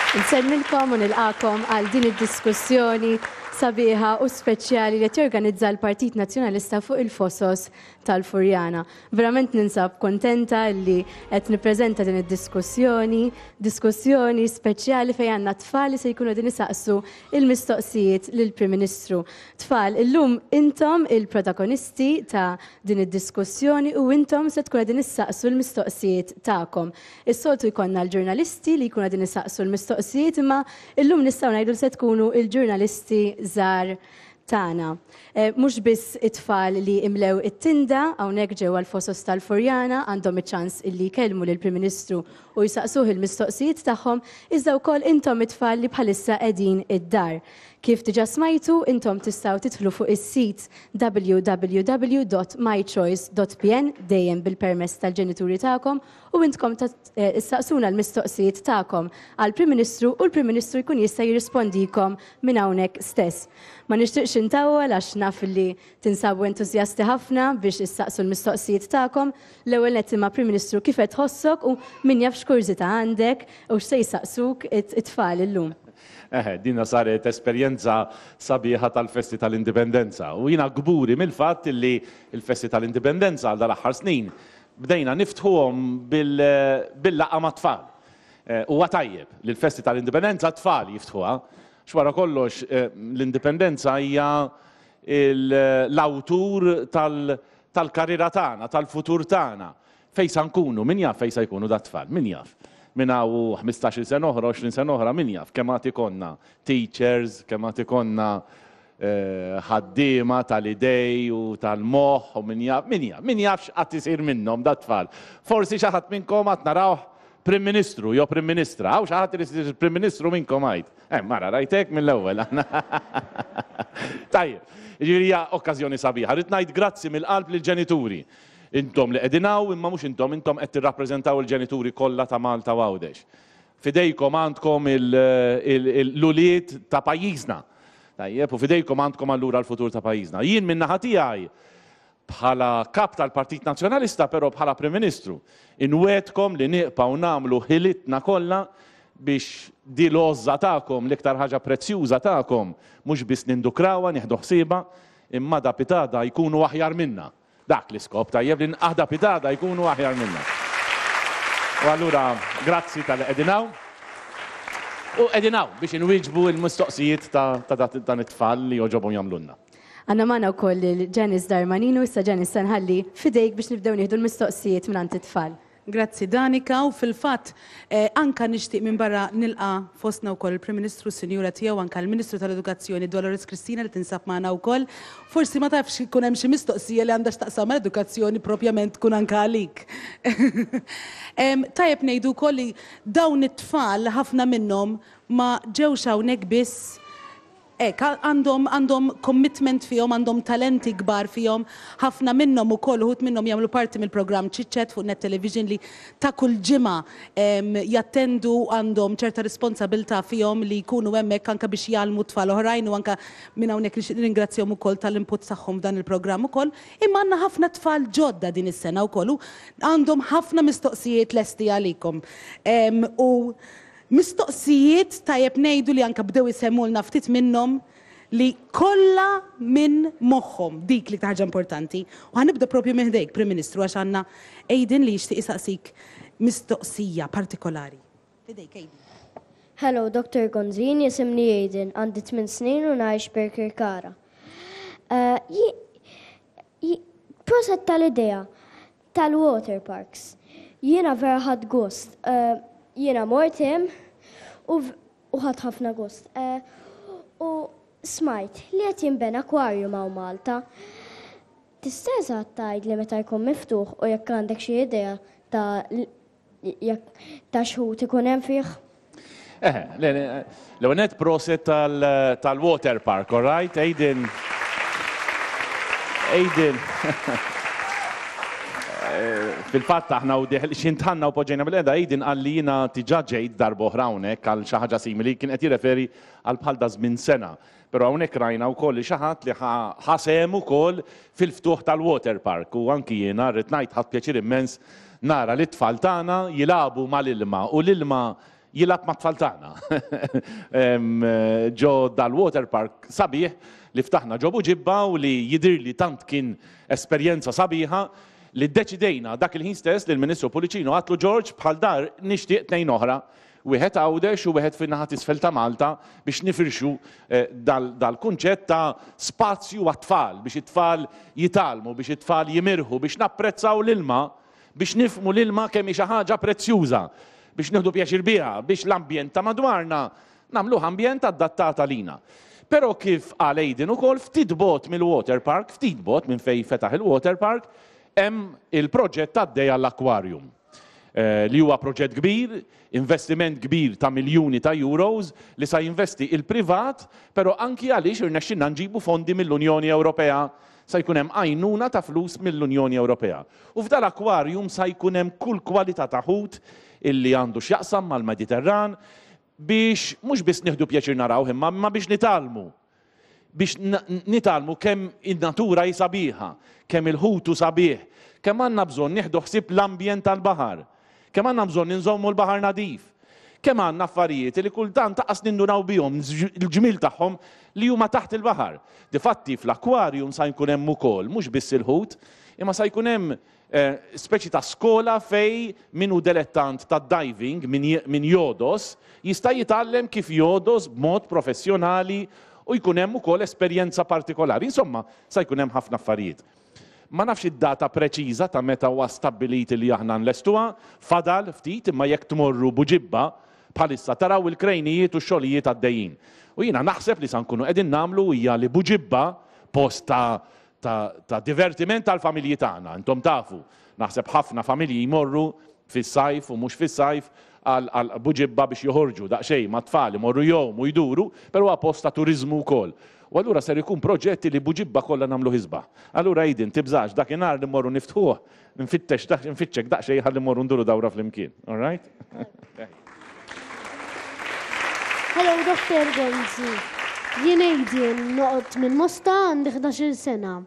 Nsellmilkom u nilqakom għal din id-diskussjoni sabiħa u speċjali li qed jorganizza l-Partit Nazzjonalista fuq il-Fosos tal-Furjana. Verament ninsab kontenta li qed nippreżenta din id-diskussjoni, diskussjoni speċjali fejn għandna tfal li se jkunu qegħdin isaqsu il-mistoqsijiet lill-Prim Ministru. Tfal, illum intom il-protagonisti ta' din id-diskussjoni u intom se tkun qegħdin issaqsu l-mistoqsijiet tagħkom. Is-soltu jkollna l-ġurnalisti li jkunu qegħdin isaqsu l-mistoqsijiet imma illum nistgħu ngħidu li se tkunu l-ġurnalisti żgħar tagħna. Mhux biss it-tfal li imlew it-tinda hawnhekk ġewwa l-Fosos tal-Furjana għandhom iċ-ċans illi jkellmu lill-Prim Ministru u jsaqsuh il-mistoqsijiet tagħhom, iżda wkoll intom it-tfal li bħalissa qegħdin id-dar. Kif diġà smajtu, intom tistgħu tidħlu fuq is-sit www.mychoice.pn dejjem bil-permess tal-ġenituri tagħkom u intkom issaqsuna l-mistoqsijiet tagħkom għall-Prim Ministru u l-Prim Ministru jkun jista' jirrispondikom minn hawnhekk stess. Ma nixtieqx intawwal għax naf li tinsabu entużjasti ħafna biex issaqsu l-mistoqsijiet tagħkom. L-ewwel nett imma Prim Ministru kif qed tħossok u min jaf x'kurżità għandek u x'se jsaqsuk it-tfal illum. Eħe, dina saret esperjenza sabiħa tal-festi tal-Indipendenza u jiena kburi mill-fatt li l-festi tal-Indipendenza għal dal-aħħar snin bdejna niftħuhom bil-laqgħa mat-tfal. Huwa tajjeb li l-festi tal-Indipendenza t-tfal jiftħuha, għax wara kollox l-Indipendenza hija l-awtur tal-karriera tagħna, tal-futur tagħna. Fejn sa nkunu? Min jaf fejn sa jkunu dat-tfal? Min jaf? Minn hawn u ħmistax-il sena oħra, 20 sena oħra, min jaf kemm għad ikollna teachers, kemm għad ikollna ħaddiema tal-idej u tal-moħħ u min jaf, min jaf, min jaf x'qatt isir minnhom dat-tfal. Forsi xi ħadd minnkom għad narawh Prim Ministru jew Prim Ministra. Hawn xi ħadd irid isir Prim Ministru minnkom għid. Eh, mara, rajtek mill-ewwel. Tajjeb, jiġifieri hija okkażjoni sabiħa. Rrid ngħid grazzi mill-qalb lill-ġenituri. Intom li qegħdin hawn, imma mhux intom, intom qed tirrappreżentaw il-ġenituri kollha ta' Malta u Għawdex. F'idejkom għandkom l-ulied ta' pajjiżna. Tajjeb, u f'idejkom għandkom allura l-futur ta' pajjiżna. Jien min-naħa tiegħi bħala Kap tal-Partit Nazzjonalista però bħala Prim Ministru, inwegħdkom li nieqpgħu nagħmlu ħilitna kollha biex di l-għożża tagħkom, l-iktar ħaġa prezzjuża tagħkom, mhux biss nindukrawha, nieħdu ħsiebha, imma da pitgħada jkunu aħjar minna. Dak l-iskop, tajjeb, li għada pitgħada jkunu aħjar minna. U allura grazzi talli qegħdin hawn. U qegħdin hawn biex inwieġbu l-mistoqsijiet ta' dan it-tfal li jogħġobhom jagħmlulna. Għandna magħna wkoll lil Janice Darmanino, issa Janice se nħalli f'idejk biex nibdew nieħdu l-mistoqsijiet mingħand it-tfal. Grazzi Danica u fil-fatt anka nixtieq minn barra nilqa' fostna wkoll il-Prim Ministru u s-Sinjura tiegħu anka l-Ministru tal-Edukazzjoni Dolores Cristina li tinsab magħna wkoll. Forsi ma tafx ikun hemm xi mistoqsija li għandha x'taqsam mal-edukazzjoni propjament tkun anka għalik. Tajjeb ngħidu wkoll li dawn it-tfal ħafna minnhom ma ġewx hawnhekk biss Hekk, għandhom għandhom commitment fihom, għandhom talenti kbar fihom. Ħafna minnhom ukoll, uħud minnhom jagħmlu parti mill-programm Chit Chat fuq Net Television li ta' kull ġimgħa jattendu għandhom ċerta responsabilità fihom li jkunu hemmhekk anke biex jgħallmu tfal oħrajn u anke minn hawnhekk nixtieq nirringrazzjahom ukoll tal-input tagħhom f'dan il-programm ukoll. Imma għandna ħafna tfal ġodda din is-sena wkoll u għandhom ħafna mistoqsijiet lesti għalikom. U Mistoqsijiet, tajjeb ngħidu li anke bdew isemmulna ftit minnhom li kollha minn moħħhom, dik l-iktar ħaġa importanti. U ħa nibda propju minn ħdejk, Prim Ministru, għax għandna Aiden li jixtieq isaqsik mistoqsija partikolari. F'idejk, Aiden. Hello, Dr. Gonzin, jisimni Aiden, għandi tmin snin u ngħix Birkirkara. Proset tal-idea Tal-water parks. Jiena vera ħadt gost. Jiena mort hemm u ħadt ħafna gost. U smajt li qed jinbena aquarium hawn Malta. Tista' eżatt tgħidli meta jkun miftuħ u jekk għandek xi idea ta' Jekk ta' xħut ikun hemm fih. Eħe, le, l-ewwel nett proset tal-water park, all right? Aiden. Aiden. Fil-fatt aħna u diħ xintħanna u poġġejna bil-qeda, Aiden qal li jiena diġà ġejt darba oħra hawnhekk għal xi ħaġa simili, kien qed jirreferi għal bħal da żmien sena. Però hawnhekk rajna wkoll li xi ħadd li ħa sehem ukoll fil-ftuħ tal-water park u anki jiena rrid ngħid ħadt pjaċir immens nara lit-tfal tagħna jilagħbu mal-ilma u l-ilma. jilgħab mat-tfal tagħna. Ġo dal-water park sabiħ li ftaħna ġo Buġibba u li jidhirli tant kien esperjenza sabiħa li ddeċidejna dak il-ħin stess li l-Ministru Pullicino għatlu George bħal dar nixtieq tnejn oħra, wieħed Għawdex u wieħed fin-naħa t'isfel ta' Malta biex nifirxu eh, dal-kunċett ta' spazju għat-tfal biex it-tfal jitgħallmu, biex it-tfal jimirħu, biex napprezzaw l-ilma biex nifhmu l-ilma kemm hi xi ħaġa prezzjuża, biex nieħdu pjaċir biha, biex l-ambjent ta' madwarna nagħmluh ambjent adattat għalina. Però kif qal Aidan ukoll, ftit bogħod mill-water park, ftit bogħod minn fejn fetaħ il-water park, hemm il-proġett għaddej għall-aquarium. Eh, li huwa proġett kbir, investiment kbir ta' miljuni ta' euros li sa jinvesti il-privat, però anki għaliex irnexxinna nġibu fondi mill-Unjoni Ewropea sa jkun hemm għajnuna ta' flus mill-Unjoni Ewropea. U f'dal-akwarjum sa jkun hemm kull kwalità ta' ħut illi għandu x'jaqsam mal-Mediterran biex mhux biss nieħdu pjaċir narawh imma imma biex nitgħallmu. Biex nitgħallmu kemm in-natura hi sabiħa, kemm il-ħut hu sabiħ, kemm għandna bżonn nieħdu ħsieb l-ambjent tal-baħar, kemm għandna bżonn inżommu l-baħar nadif, kemm għandna affarijiet li kultant anqas nindunaw bihom, il-ġmiel tagħhom li huma taħt il-baħar. Difatti fl-akwarjum sa jkun hemm ukoll mhux biss il-ħut, Imma sa jkun hemm speċi ta' skola fejn min hu delettant tad-diving, min jogħdos, jista' jitgħallem kif jogħdos b'mod professjonali u jkun hemm ukoll esperjenza partikolari. Insomma, sa jkun hemm ħafna affarijiet. Ma nafx id-data preċiża ta' meta huwa stabbilit li aħna nlestuha, fadal ftit imma jekk tmorru Buġibba bħalissa taraw il-krejnijiet u x-xogħlijiet għaddejjin. U jiena naħseb li sa nkunu qegħdin nagħmlu hija li Buġibba, post ta' ta', ta divertiment tal-familji tagħna. Intom tafu, naħseb ħafna familji jmorru fis-sajf u mhux fis-sajf għal Buġibba biex joħorġu daqsxejn mat-tfal, imorru jgħumu, jduru, però huwa post ta' turiżmu wkoll. U allura ser ikun proġett li Buġibba kollha nagħmluh isbaħ. Allura Aiden, tibżax, dakinhar li mmorru niftħuh, nfittex nfittxek daqsxejn ħalli mmorru nduru dawra flimkien. All right? Hello Dr. Gonzi. Jien Aiden noqgħod minn Mosta għandi 11-il sena.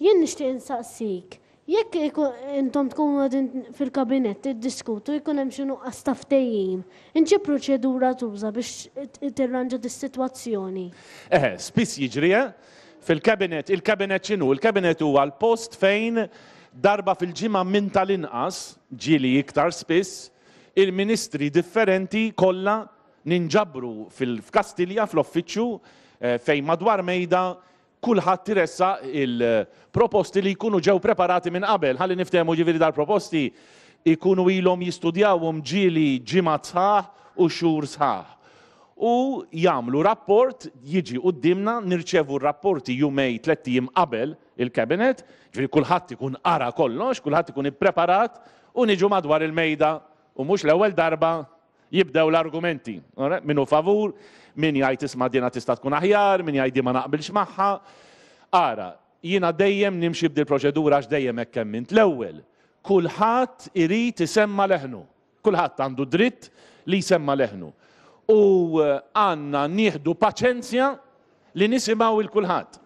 Jien nixtieq insaqsik, jekk intom tkunu qegħdin fil-kabinett tiddiskutu jkun hemm xi nuqqas ta' ftehim, int xi proċedura tuża biex tirranġa dis-sitwazzjoni? Eħe, spiss jiġri, eh? Fil-cabinet, il-cabinet x'inhu? Il-cabinet huwa l-post fejn darba fil-ġimgħa minn tal-inqas, ġieli iktar spiss, il-ministri differenti kollha ninġabru f'Kastilja fl-uffiċċju fejn madwar mejda kulħadd iressaq il-proposti li jkunu ġew preparati minn qabel. Ħalli niftehmu ġifieri dal-proposti jkunu ilhom jistudjawhom ġieli ġimgħat sħaħ u xhur sħaħ. U jagħmlu rapport, jiġi quddiemna, nirċevu r-rapporti jumej, tlett ijiem qabel il-Cabinet, ġifieri kulħadd ikun qara kollox, kulħadd ikun ippreparat u niġu madwar il-mejda u mhux l-ewwel darba jibdew l-argumenti. Min hu favur, min jgħid isma' dina tista' tkun aħjar, min jgħid di ma naqbilx magħha. Ara, jiena dejjem nimxi b'dil-proċedura għax dejjem hekk emmint. L-ewwel, kulħadd irid isemma' leħnu. Kulħadd għandu dritt li jsemma' leħnu. U għandna nieħdu paċenzja li nisimgħu 'l kulħadd.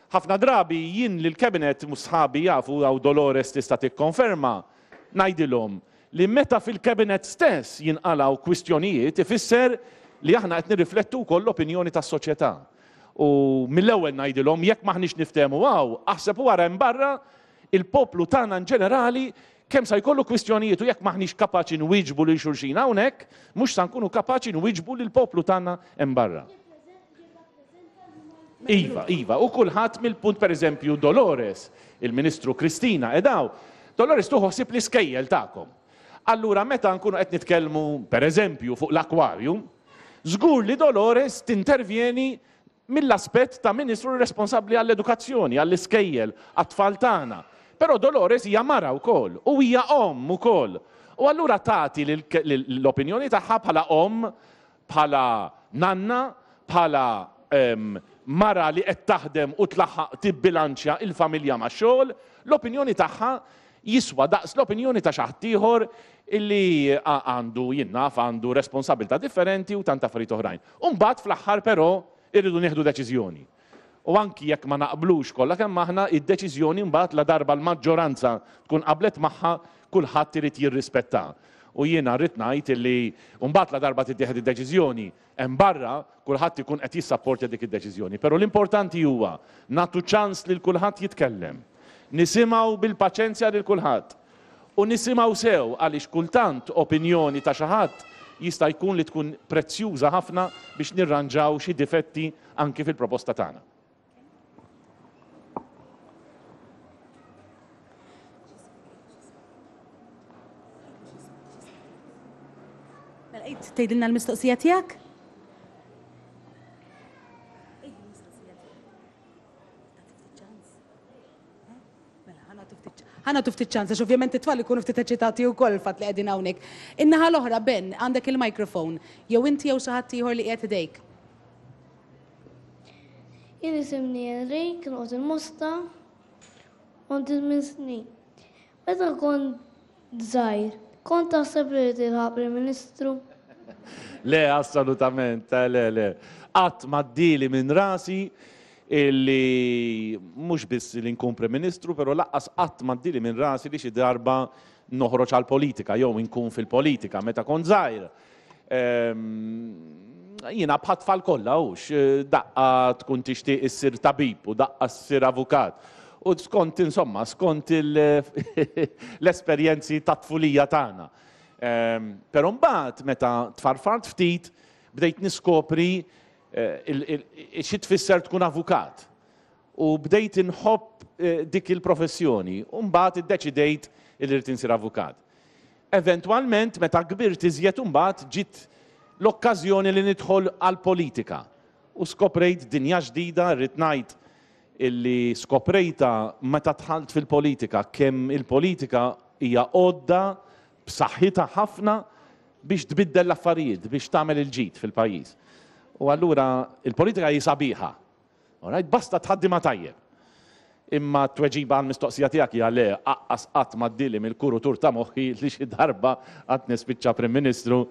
Ħafna drabi jien lill-Cabinet, u sħabi jafu, hawn Dolores tista' tikkonferma, ngħidilhom li meta fil-Cabinet stess jinqalgħu kwistjonijiet ifisser li aħna qed nirriflettu wkoll l-opinjoni tas-soċjetà. U mill-ewwel ngħidilhom jekk m'aħniex niftehmu hawn, aħseb u ara hemm barra il-poplu tagħna in ġenerali Kemm sa jkollu kwistjonijiet u jekk m'aħniex kapaċi nwieġbu lil xulxin hawnhekk, mhux sa nkunu kapaċi nwieġbu lill-poplu tagħna hemm barra. Iva, iva, u kulħadd mill-punt pereżempju Dolores, il-Ministru Kristina qiegħda hawn. Dolores tieħu ħsieb l-iskejjel tagħkom. Allura meta nkunu qed nitkellmu pereżempju fuq l-aquarium, żgur li Dolores tintervjeni mill-aspett ta' Ministru responsabbli għall-edukazzjoni, għall-iskejjel, għat-tfal tagħna. Però Dolores hija mara wkoll u hija omm ukoll. U allura tagħti l-opinjoni tagħha bħala omm, bħala nanna, bħala mara li qed taħdem u tlaħħaq tibbilanċja il-familja max-xogħol, l-opinjoni tagħha jiswa daqs l-opinjoni ta' xi ħadd ieħor illi għandu, jien naf, għandu responsabilità differenti u tant affarijiet oħrajn. U mbagħad fl-aħħar però irridu nieħdu deċiżjoni. U anki jekk ma naqblux kollha kemm aħna, id-deċiżjoni mbagħad ladarba l-maġġoranza tkun qablet magħha, kulħadd irid jirrispettha. U jiena rrid ngħid illi mbagħad la darba tittieħed id-deċiżjoni hemm barra kulħadd ikun qed jissapportja dik id-deċiżjoni. Però l-importanti huwa nagħtu ċans lil kulħadd jitkellem. Nisimgħu bil-paċenzja lil kulħadd. U nisimgħu sew għaliex kultant opinjoni ta' xi ħadd jista' jkun li tkun prezzjuża ħafna biex nirranġaw xi difetti anki fil-proposta tagħna. Mela, tgħidilna l-mistoqsija tiegħek? Ħa nagħtu ftit ċans, għax ovvjament it-tfal ikunu ftit eċitati wkoll il-fatt li qegħdin hawnhekk. In-naħa l-oħra, Ben, għandek il-microphone. Jew inti jew xi ħadd ieħor li qiegħed idejk. Jien isimni Enrik, noqgħod il-Mosta, għandi minn snin. Meta kont żgħir, kont taħseb li tilħaq Prim Ministru? Le, assolutament, eh, le, le. Qatt m'għaddieli minn rasi illi mhux biss li nkun Prim Ministru, però laqqas qatt m'għaddieli minn rasi li xi darba noħroġ għall-politika jew inkun fil-politika. Meta kont żgħir, ehm, jiena bħat-tfal kollha hux, daqqa tkun tixtieq issir tabib u daqqa ssir avukat. U skont insomma, skont l-esperjenzi tat-tfulija tagħna. Ehm, però mbagħad meta tfarfart ftit bdejt niskopri eh, xi tfisser tkun avukat. U bdejt inħobb eh, dik il-professjoni u mbagħad iddeċidejt li rrid insir avukat. Eventwalment meta kbirt iżjed imbagħad ġiet l-okkażjoni li nidħol għall-politika u skoprejt dinja ġdida, rrid ngħid illi skoprejtha meta dħalt fil-politika, kemm il-politika hija għodda b'saħħitha ħafna biex tbiddel l-affarijiet, biex tagħmel il-ġid fil-pajjiż. U allura il-politika hi sabiħa, Alright, basta tħaddimha tajjeb. Imma t-tweġiba għall-mistoqsija tiegħek hija le, aqqas qatt m'għaddieli mill-kurutur ta' moħħi li xi darba għad nispiċċa Prim Ministru.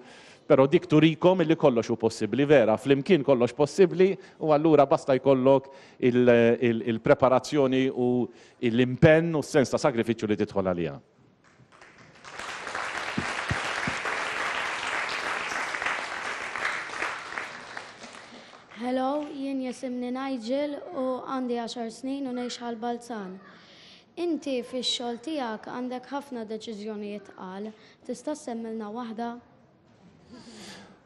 Però dik turikom illi kollox hu possibbli, vera, flimkien kollox possibbli u allura basta jkollok il-preparazzjoni u l-impenn u s-sens ta' sagrifiċċju li tidħol għaliha. Hello, jien jisimni Nigel u għandi 10 snin u ngħix Ħal Balzan. Inti fix-xogħol tiegħek għandek ħafna deċiżjonijiet tqal. Tista' ssemmilna waħda?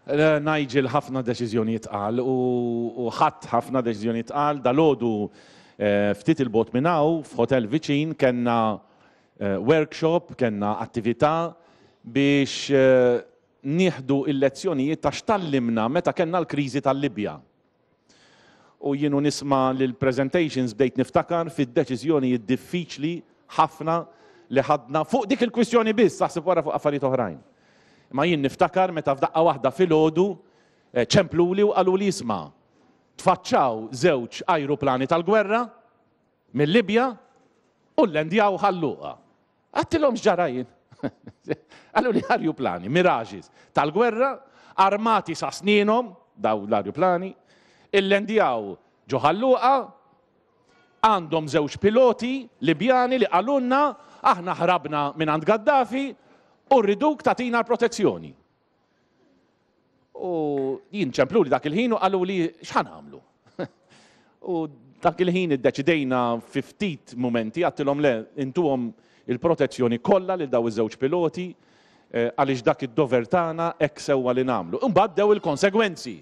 Eh, Nigel ħafna deċiżjonijiet tqal u ħadd ħafna deċiżjonijiet tqal dalgħodu eh, ftit il-bot minn hawn f'hotel viċin kellna eh, workshop, kellna attività biex nieħdu il-lezzjonijiet ta' x'tallimna meta kellna l-kriżi tal-Libja. U jien u nisma' l-presentations bdejt niftakar fid-deċiżjonijiet diffiċli ħafna li ħadna fuq dik il-kwistjoni biss, aħseb wara fuq affarijiet oħrajn. Imma jien niftakar meta f'daqqa waħda filgħodu eh, ċempluli u qaluli isma' tfaċċaw żewġ ajruplani tal-gwerra mill-Libja u llendjaw Ħal Luqa. Għedtilhom x'ġara jien. Qaluli arjuplani, Mirages, tal-gwerra, armati sa snienhom, daw l-arjuplani, illendjaw ġo Ħal Luqa, għandhom żewġ piloti Libjani li qalulna aħna ħrabna minn għand Gaddafi u rriduk tagħtina l-protezzjoni. U jien ċempluli dak il-ħin u qaluli x'ħa nagħmlu. U dak il-ħin iddeċidejna fi ftit mumenti għedtilhom le intuhom il-protezzjoni kollha lil daw iż-żewġ piloti eh, għaliex dak id-dover tagħna hekk sewwa li nagħmlu. Imbagħad bdew il-konsegwenzi.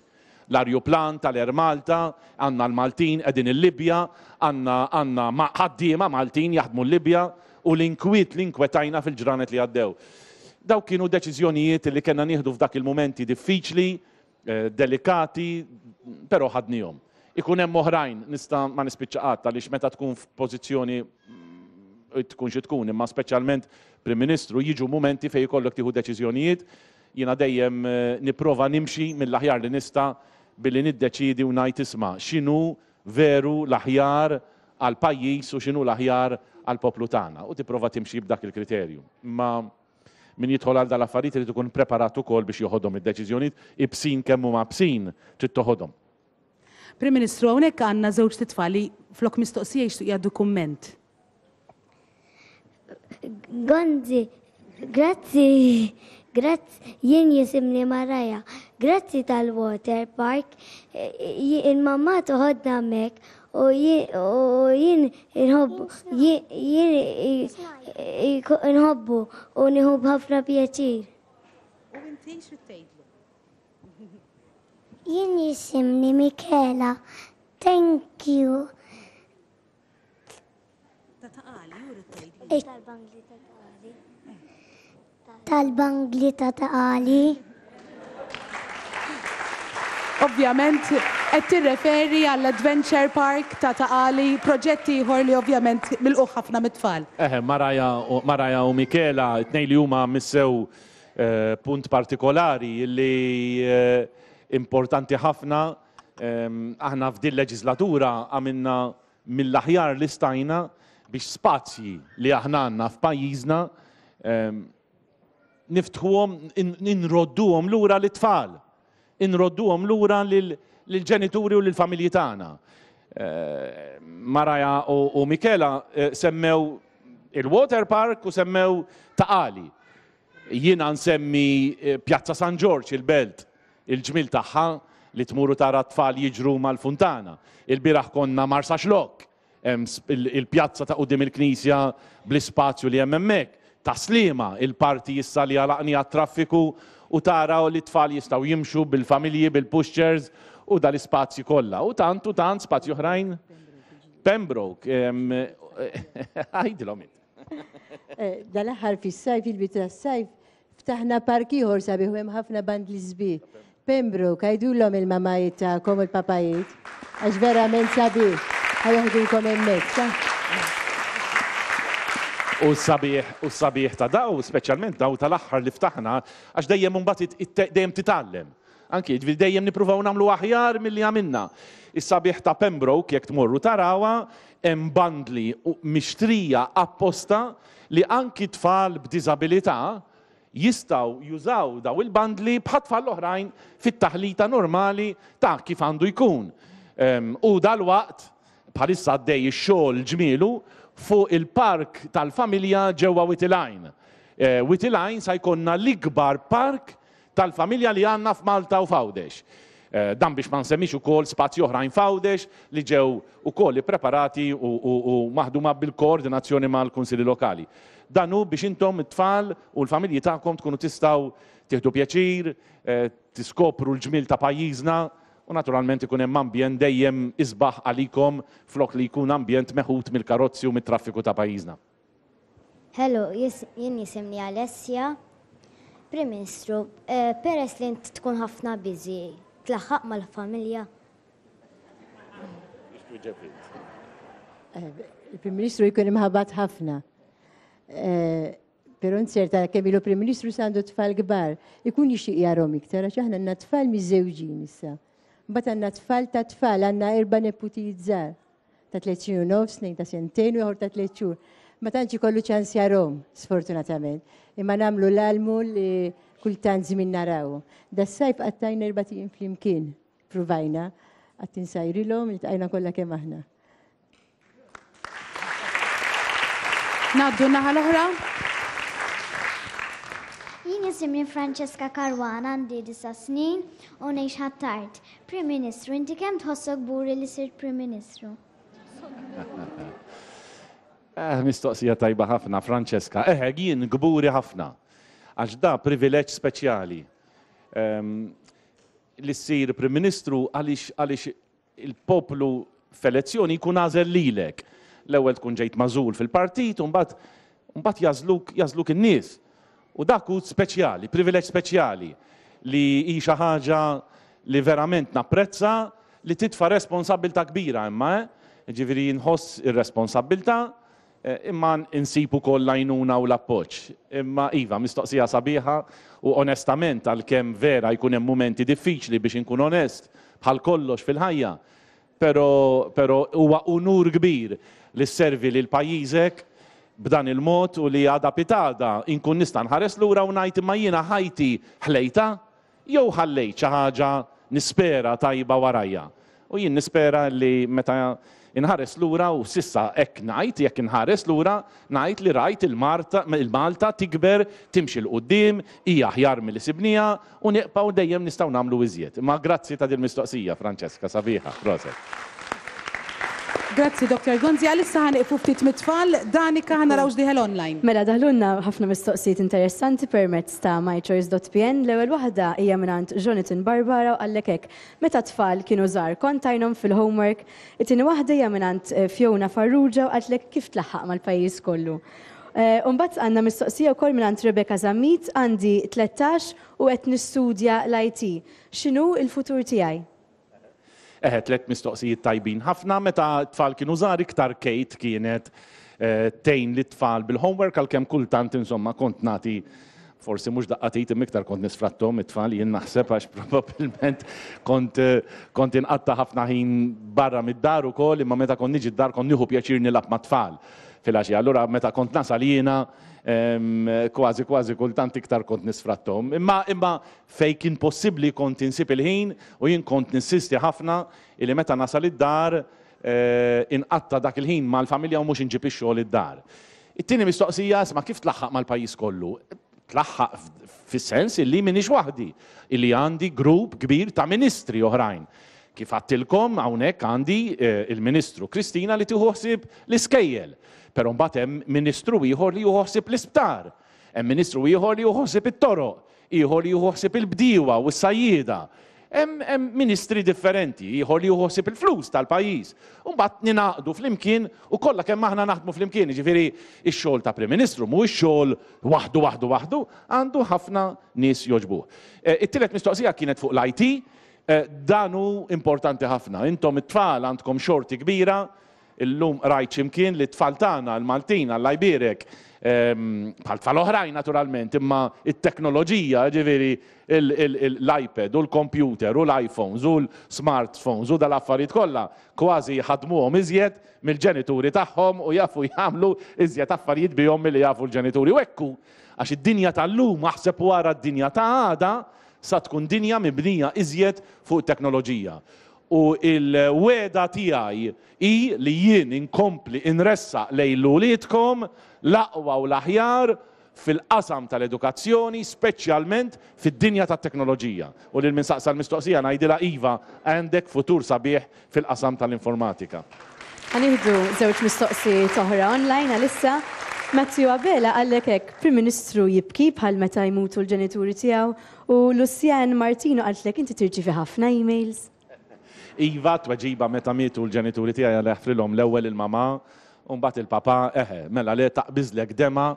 L-arjuplan tal-Air Malta, għandna l-Maltin qegħdin il-Libja, għandna għandna ħaddiema Maltin jaħdmu l-Libja u l-inkwiet li inkwetajna fil-ġranet li għaddew. Dawk kienu deċiżjonijiet li kellna nieħdu f'dak il-mumenti diffiċli, delikati, però ħadnihom. Ikun hemm oħrajn, nista' ma nispiċċa qatt għaliex meta tkun f'pożizzjoni tkun xi tkun, imma speċjalment Prim Ministru jiġu mumenti fejn ikollok tieħu deċiżjonijiet Jiena dejjem nipprova nimxi mill-aħjar li nista' billi niddeċiedi u ngħid isma' x'inhu veru l-aħjar għall-pajjiż u x'inhu l-aħjar għall-poplu tagħna u tipprova timxi b'dak il-kriterju. Imma min jidħol għal dal-affarijiet irid ikun preparat ukoll biex joħodhom id-deċiżjonijiet ibsin kemm huma ibsin trid toħodhom. Prim Ministru, hawnhekk għandna żewġt itfal li flok mistoqsija jixtiequ jgħaddu kumment. Gonzi, grazzi. Grazz, jien jisimni Maraja. Grazzi tal-water park, il-mamma toħodna hemmhekk u jien inħobbu jien inħobbu u nieħu b'ħafna pjaċir. U inti xi tgħidlu? Jien jisimni Michela. Thank you. Tal-bangli ta' taqali. Ovvjament qed tirreferi għall-Adventure Park ta' Ta' Qali, proġett ieħor li ovvjament milqugħ ħafna mit-tfal. Eħe, Maraja u Michela, it-tnejn li huma missew punt partikolari li importanti ħafna. Aħna f'din leġislatura għamilna mill-aħjar li stajna biex spazji li aħna għandna f'pajjiżna niftħuhom, inrodduhom lura lit-tfal, inrodduhom lura lill-ġenituri u lill-familji tagħna. Maraja u Michela semmew il-water park u semmew Ta' Qali. Jiena nsemmi Pjazza San Ġorġ, il-Belt, il-ġmiel tagħha li tmur u tara t-tfal jiġru mal-funtana. Ilbieraħ konna Marsaxlokk, hemm il-pjazza ta' quddiem il-knisja bl-ispazju li hemm hemmhekk. Ta' Sliema, il-parti issa li għalaqniha għat-traffiku u tara li t-tfal jistgħu jimxu bil-familji, bil-pushchairs u dal-ispazji kollha. U tant u tant spazji oħrajn. Pembroke, għidilhom int. Eh, dal-aħħar fis-sajf, il-bidu tas-sajf, ftaħna park ieħor sabiħ u hemm ħafna bandli sbieħ. Pembroke, għidulhom il-mamajiet tagħkom u l-papajiet, għax verament sabiħ, ħa joħdulkom hemmhekk, sa? U s-sabiħ, u s-sabiħ ta' daw, speċjalment daw tal-aħħar li ftaħna, għax dejjem imbagħad dejjem titgħallem. Anki, jiġifieri dejjem nippruvaw nagħmlu aħjar milli għamilna. Is-sabiħ ta' Pembroke, jekk tmorru tarawha, hemm bandli mixtrija apposta li anki tfal b'diżabilità jistgħu jużaw daw il-bandli bħat-tfal l-oħrajn fit-taħlita normali ta' kif għandu jkun. U dalwaqt, bħalissa għaddej ix-xogħol ġmielu fuq il-park tal-familja ġewwa Wied il-Għajn. Wied il-Għajn sa jkollna l-ikbar park tal-familja li għandna f'Malta u f'Għawdex. Dan biex ma nsemmix ukoll spazji oħrajn f'Għawdex li ġew ukoll ippreparati u maħduma bil-koordinazzjoni mal-Kunsilli Lokali. Dan hu biex intom it-tfal u l-familji tagħkom tkunu tistgħu tieħdu pjaċir, tiskopru l-ġmiel ta' pajjiżna u naturalment ikun hemm ambjent dejjem isbaħ għalikom flok li jkun ambjent meħud mill-karozzi u mit-traffiku ta' pajjiżna. Hello, jien jisimni Alessia. Prim Ministru, eh, peress li int tkun ħafna busy, tlaħħaq mal-familja? Eh, Il-Prim Ministru jkun imħabat ħafna. Eh, però nserta kemm ilu Prim Ministru sandu tfal kbar, ikun jixtieq jarhom iktar għax aħna għandna tfal miżżewġin issa. Mbagħad għandna tfal ta' tfal, għandna erba' neputijiet żgħar. ta' tliet snin u nofs, tnejn ta' sentejn u ieħor ta' tliet xhur. Ma tantx ikollu ċans jarhom, sfortunatament. Imma nagħmlu l-almu li kultant żmien naraw. Das-sajf qattajna erba' ijiem flimkien, pruvajna, qatt insajrilhom, iltqajna kollha kemm aħna. Ngħaddu n-naħa l-oħra. Jien jisimni Francesca Caruana għandi disa' snin u ngħix Ħ'Attard. Prim Ministru, inti kemm tħossok kburi li sirt Prim Ministru? Eh, mistoqsija tajba ħafna, Francesca. Eħe, jien kburi ħafna. Għax da privileġġ speċjali. Ehm, li ssir Prim Ministru għaliex għaliex il-poplu f'elezzjoni jkun għażel lilek. L-ewwel tkun ġejt magħżul fil-partit u mbagħad mbagħad jagħżluk jagħżluk in-nies. U dak hu speċjali, privileġġ speċjali li hi xi ħaġa li verament napprezza li titfa' responsabbiltà kbira imma eh. Jiġifieri nħoss ir-responsabbiltà imma insib ukoll l-għajnuna u l-appoġġ. Imma iva, mistoqsija sabiħa u onestament għalkemm vera jkun hemm mumenti diffiċli biex inkun onest bħal kollox fil-ħajja, pero pero huwa unur kbir li sservi lil pajjiżek b'dan il-mod u li għada pitgħada inkun nista' nħares lura u ngħid imma jiena ħajti ħlejtha jew ħallejt xi ħaġa nispera tajba warajja. U jien nispera li meta Inħares lura u s'issa hekk ngħid, jekk inħares lura, ngħid li rajt il-Malta tikber, timxi 'l quddiem, hija aħjar milli sibnieha u nibqgħu dejjem nistgħu nagħmlu iżjed. Imma grazzi ta' dil-mistoqsija, Francesca, sabiħa, proset. Grazzi Doctor Gonzi, għalissa ħa nieqfu ftit mit-tfal, Danica ħa naraw x'dieħel online. Mela daħlulna ħafna mistoqsijiet interessanti permezz ta' mychoice.pn. L-ewwel waħda hija mingħand Jonathan Barbara u qallek hekk, Meta t-tfal kienu żgħar kont tgħinhom fil-homework? It-tieni waħda hija mingħand Fiona Farrugia u qaltlek kif tlaħħaq mal-pajjiż kollu. U mbagħad għandna mistoqsija wkoll mingħand Rebecca Zammit, għandi 13 u qed nistudja l-IT. X'inhu l-futur tiegħi? Eħe, tlett mistoqsijiet tajbin ħafna. Meta t-tfal kienu żgħar iktar Kate kienet tgħin lit-tfal bil-homework għalkemm kultant insomma kont nagħti forsi mhux daqqa t'id imma iktar kont nisfratthom it-tfal jien naħseb għax probabbilment kont kont inqatta' ħafna ħin barra mid-dar ukoll imma meta kont niġi d-dar kont nieħu pjaċir nilgħab mat-tfal filgħaxija. Allura meta kont nasal jiena kważi kważi kultant iktar kont nisfratthom. Imma imma fejn kien possibbli kont insib il-ħin u jien kont ninsisti ħafna illi meta nasal id-dar inqatta' dak il-ħin mal-familja u mhux inġib ix-xogħol id-dar. It-tieni mistoqsija, isma' kif tlaħħaq mal-pajjiż kollu? Tlaħħaq fis-sens illi m'iniex waħdi, illi għandi grupp kbir ta' ministri oħrajn. Kif għadtilkom hawnhekk għandi il-Ministru Kristina li tieħu ħsieb l-iskejjel, però mbagħad hemm ministru ieħor li jieħu ħsieb l-isptar, hemm ministru ieħor li jieħu ħsieb it-toroq, ieħor li jieħu ħsieb il-bdiewa u s-sajjieda. Hemm hemm ministri differenti, ieħor li jieħu ħsieb il-flus tal-pajjiż. U mbagħad ningħaqdu flimkien u kollha kemm aħna naħdmu flimkien, jiġifieri x-xogħol ta' Prim Ministru mhuwiex xogħol waħdu waħdu waħdu, għandu ħafna nies jogħġbuh. It-tielet mistoqsija kienet fuq l-IT, dan hu importanti ħafna. Intom it-tfal għandkom xorti kbira Illum qrajt xi mkien li t-tfal tagħna, l-Maltin, Alla jbierek, bħal tfal oħrajn naturalment, imma t-teknoloġija, jiġifieri l-iPad u l-kompjuter u l-iPhones u l-smartphones u dal-affarijiet kollha, kważi jħaddmuhom iżjed mill-ġenituri tagħhom u jafu jagħmlu iżjed affarijiet bihom milli jafu l-ġenituri. U hekk hu, għax id-dinja tal-lum, aħseb u ara d-dinja ta' għada, sa tkun dinja mibnija iżjed fuq it-teknoloġija. U l-wegħda tiegħi hi li jien inkompli inressaq lejn uliedkom l-aqwa u l-aħjar fil-qasam tal-edukazzjoni, speċjalment fid-dinja tat-teknoloġija. U lil min saqsa l-mistoqsija ngħidilha iva, għandek futur sabiħ fil-qasam tal-informatika. Ħa nieħdu żewġ mistoqsijiet oħra online għalissa. Matthew Abela qallek hekk, Prim Ministru jibki bħal meta jmutu l-ġenituri tiegħu U Lucienne Martino qaltlek inti tirċievi ħafna emails? Iva, tweġiba meta mietu l-ġenituri tiegħi Alla jaħfrilhom l-ewwel il-mamà u mbagħad il-papà, eħe, mela le taqbiżlek demgħa,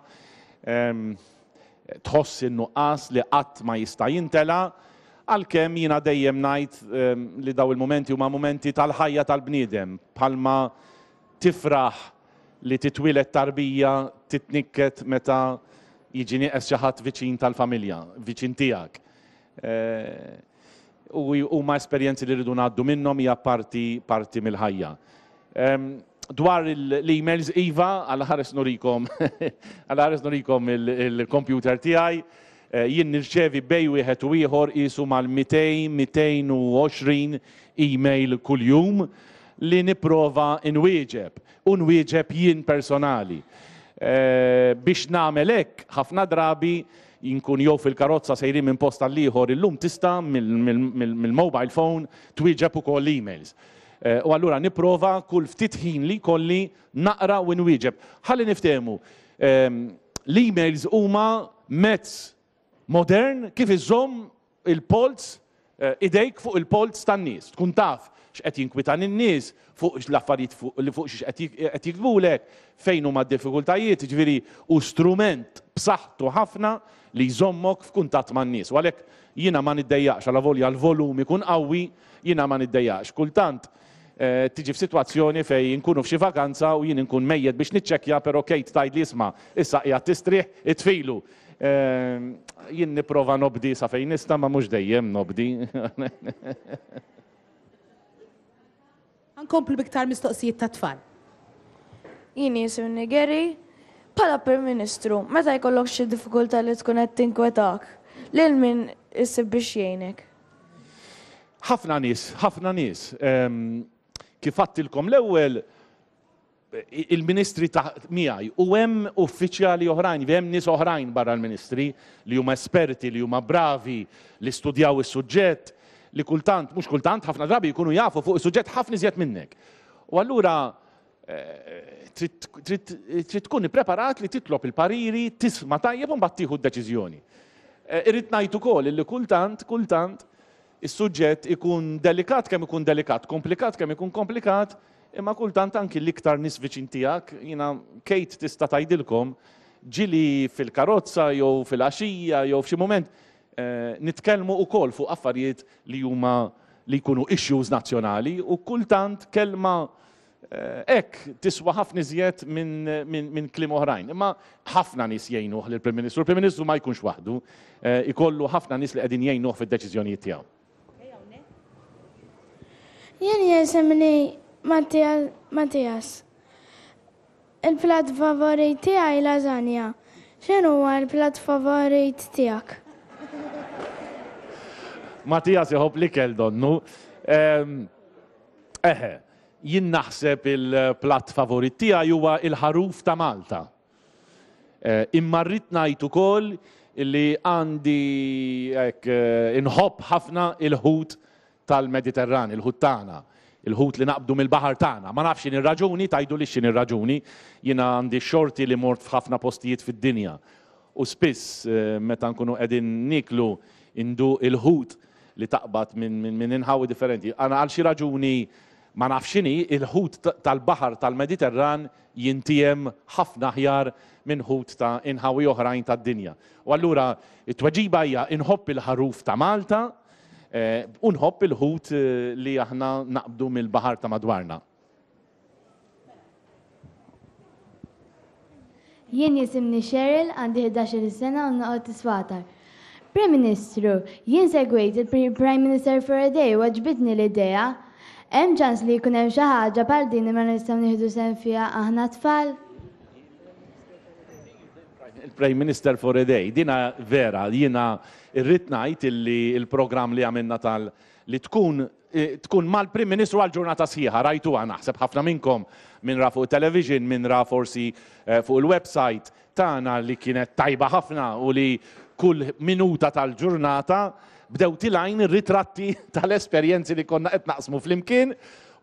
tħoss in-nuqqas li qatt ma jista' jintela', għalkemm jiena dejjem ngħid li dawn il-mumenti huma mumenti tal-ħajja tal-bniedem, bħalma Tifraħ li titwieled tarbija, titnikket meta jiġi nieqes xi ħadd viċin tal-familja, viċin tiegħek. U huma esperjenzi li rridu ngħaddu minnhom hija parti parti mill-ħajja. Dwar l-emails iva, għal ħares nurikom għal ħares nurikom il-computer tiegħi. Jien nirċevi bejn wieħed u ieħor qisu mal-200, 220 email kuljum li nipprova nwieġeb, u nwieġeb jien personali. Biex nagħmel hekk, ħafna drabi nkun jew fil-karozza sejrin minn post għal ieħor, illum tista' mill-mobile phone twieġeb ukoll emails. U allura nipprova kull ftit ħin li jkolli naqra u nwieġeb. Ħalli niftehmu, l-emails huma mezz modern kif iżżomm il-polz, idejk fuq il-polz tan-nies. Tkun taf x'qed jinkwitan in-nies, fuq l-affarijiet li fuq xiex qed jiktbulek, fejn huma d-diffikultajiet, jiġifieri hu strument b'saħħtu ħafna li jżommok f'kuntatt man-nies. U għalhekk jiena ma niddejjaqx, alavolja l-volum ikun qawwi, jiena ma niddejjaqx. Kultant tiġi f'sitwazzjoni fejn inkunu f'xi vakanza u jien inkun mejjet biex niċċekkja però Kate tgħidli isma' issa qiegħed tistrieħ, itfilu. Jien nipprova nobdi sa fejn nista' ma mhux dejjem nobdi. Ħa nkomplu b'iktar mistoqsijiet tat-tfal. Jien jisimni Gary. Bħala Prim Ministru, meta jkollok xi diffikultà li tkun qed tinkwetak, lil min issib biex jgħinek? Ħafna nies, ħafna nies. Kif għadtilkom l-ewwel, il-ministri ta' miegħi u hemm uffiċjali oħrajn, hemm nies oħrajn barra l-ministri li huma esperti, li huma bravi, li studjaw is-suġġett, li kultant, mhux kultant, ħafna drabi jkunu jafu fuq is-suġġett ħafna iżjed minnek. U allura eh, trid tkun ippreparat li titlob il-pariri, tisma' tajjeb u mbagħad tieħu d-deċiżjoni. Eh, irrid ngħid ukoll li kultant, kultant, is-suġġett ikun delikat kemm ikun delikat, komplikat kemm ikun komplikat, imma kultant anki l-iktar nies viċin tiegħek, jiena Kate tista' tgħidilkom, ġieli fil-karozza jew fil-għaxija jew f'xi mument eh, nitkellmu wkoll fuq affarijiet li huma li jkunu issues nazzjonali u kultant kelma eh, hekk tiswa ħafna iżjed minn min, min kliem oħrajn. Imma ħafna nies jgħinuh lill-Prim Ministru. Il-Prim Ministru ma jkunx waħdu, eh, ikollu ħafna nies li qegħdin jgħinuh fid-deċiżjonijiet tiegħu. Jien jisimni Mattias. Il-plat favorit tiegħi lasagna. X'inhuwa l-plat favorit tiegħek? Mattias iħobb l-ikel donnu. Eħe, jien naħseb il-platt favorit tiegħi huwa il-ħaruf ta' Malta. Imma rrid ngħid ukoll li għandi hekk inħobb ħafna il-ħut tal-Mediterran, il-ħut tagħna, il-ħut li naqbdu mill-baħar tagħna. Ma nafx x'inhi r-raġuni, tgħidulix x'inhi r-raġuni. Jiena għandi x-xorti li mort f'ħafna postijiet fid-dinja u spiss meta nkunu qegħdin nieklu nduq il-ħut li taqbad minn inħawi differenti. Għal xi raġuni ma nafx x'inhi, il-ħut tal-baħar tal-Mediterran jintiegħem ħafna aħjar minn ħut ta' inħawi oħrajn tad-dinja. U allura t-tweġiba hija inħobb il-ħaruf ta' Malta u nħobb il-ħut li aħna naqbdu mill-baħar ta' madwarna. Jien jisimni Cheryl, għandi 11-il sena u noqgħod Iswatar. Prim Ministru, jien segwejt il-Prime Minister for a Day u għoġbitni l-idea. Hemm ċans li jkun hemm xi ħaġa bħal din imma nistgħu nieħdu sehem fiha aħna t-tfal? Il-Prime Minister for a Day, dina vera, jiena rrid ngħid illi l-programm li għamilna tal li tkun tkun mal-Prim Ministru għal ġurnata sħiħa, rajtuha naħseb ħafna minnkom, min ra fuq it-television, min ra forsi fuq il-website tagħna li kienet tajba ħafna u li kull minuta tal-ġurnata bdew tilgħin ir-ritratti tal-esperjenzi li konna qed naqsmu flimkien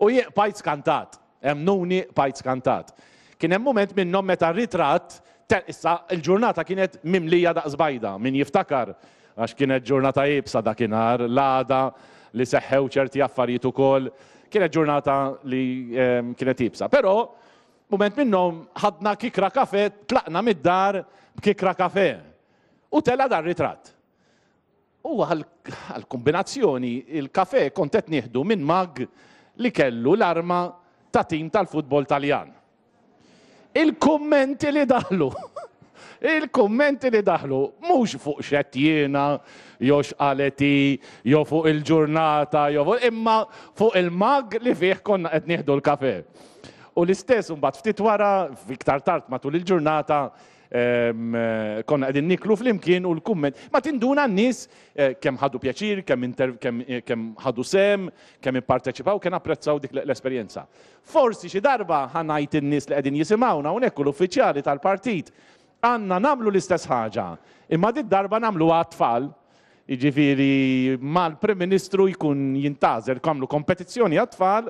u jien bqajt skantat. Emmnuni bqajt skantat. Kien hemm mument minnhom meta ritratt issa l-ġurnata kienet mimlija daqs bajda, min jiftakar għax kienet ġurnata iebsa dakinhar, l-għada li seħħew ċerti affarijiet ukoll, kienet ġurnata li kienet iebsa. Però mument minnhom ħadna kikra kafe, tlaqna mid-dar b'kikra kafe. U tela' dar-ritratt. U għall-kombinazzjoni, il-kafè kont qed nieħdu minn mug li kellu l-arma ta' tim tal-futbol Taljan. Il-kummenti li daħlu! Il-kummenti li daħlu, mhux fuq x'għedt jiena, jew x'qalet hi, jew fuq il-ġurnata, jew fuq, imma fuq il-mug li fih konna qed nieħdu l-kafè. U l-istess imbagħad ftit wara, iktar tard matul il-ġurnata, Konna qegħdin niklu flimkien u l-kumment. Ma tinduna n-nies eh, kemm ħadu pjaċir, kemm kemm ħadu sem, kemm ipparteċipaw, kemm apprezzaw dik l-esperjenza. Forsi xi darba ħanajt in-nies li qegħdin jisimgħuna hawnhekk u l-uffiċjali tal-partit għandna nagħmlu l-istess ħaġa, imma dit darba nagħmluha għat-tfal. Jiġifieri mal-Prim Ministru jkun jintgħażel jagħmlu kompetizzjoni għat-tfal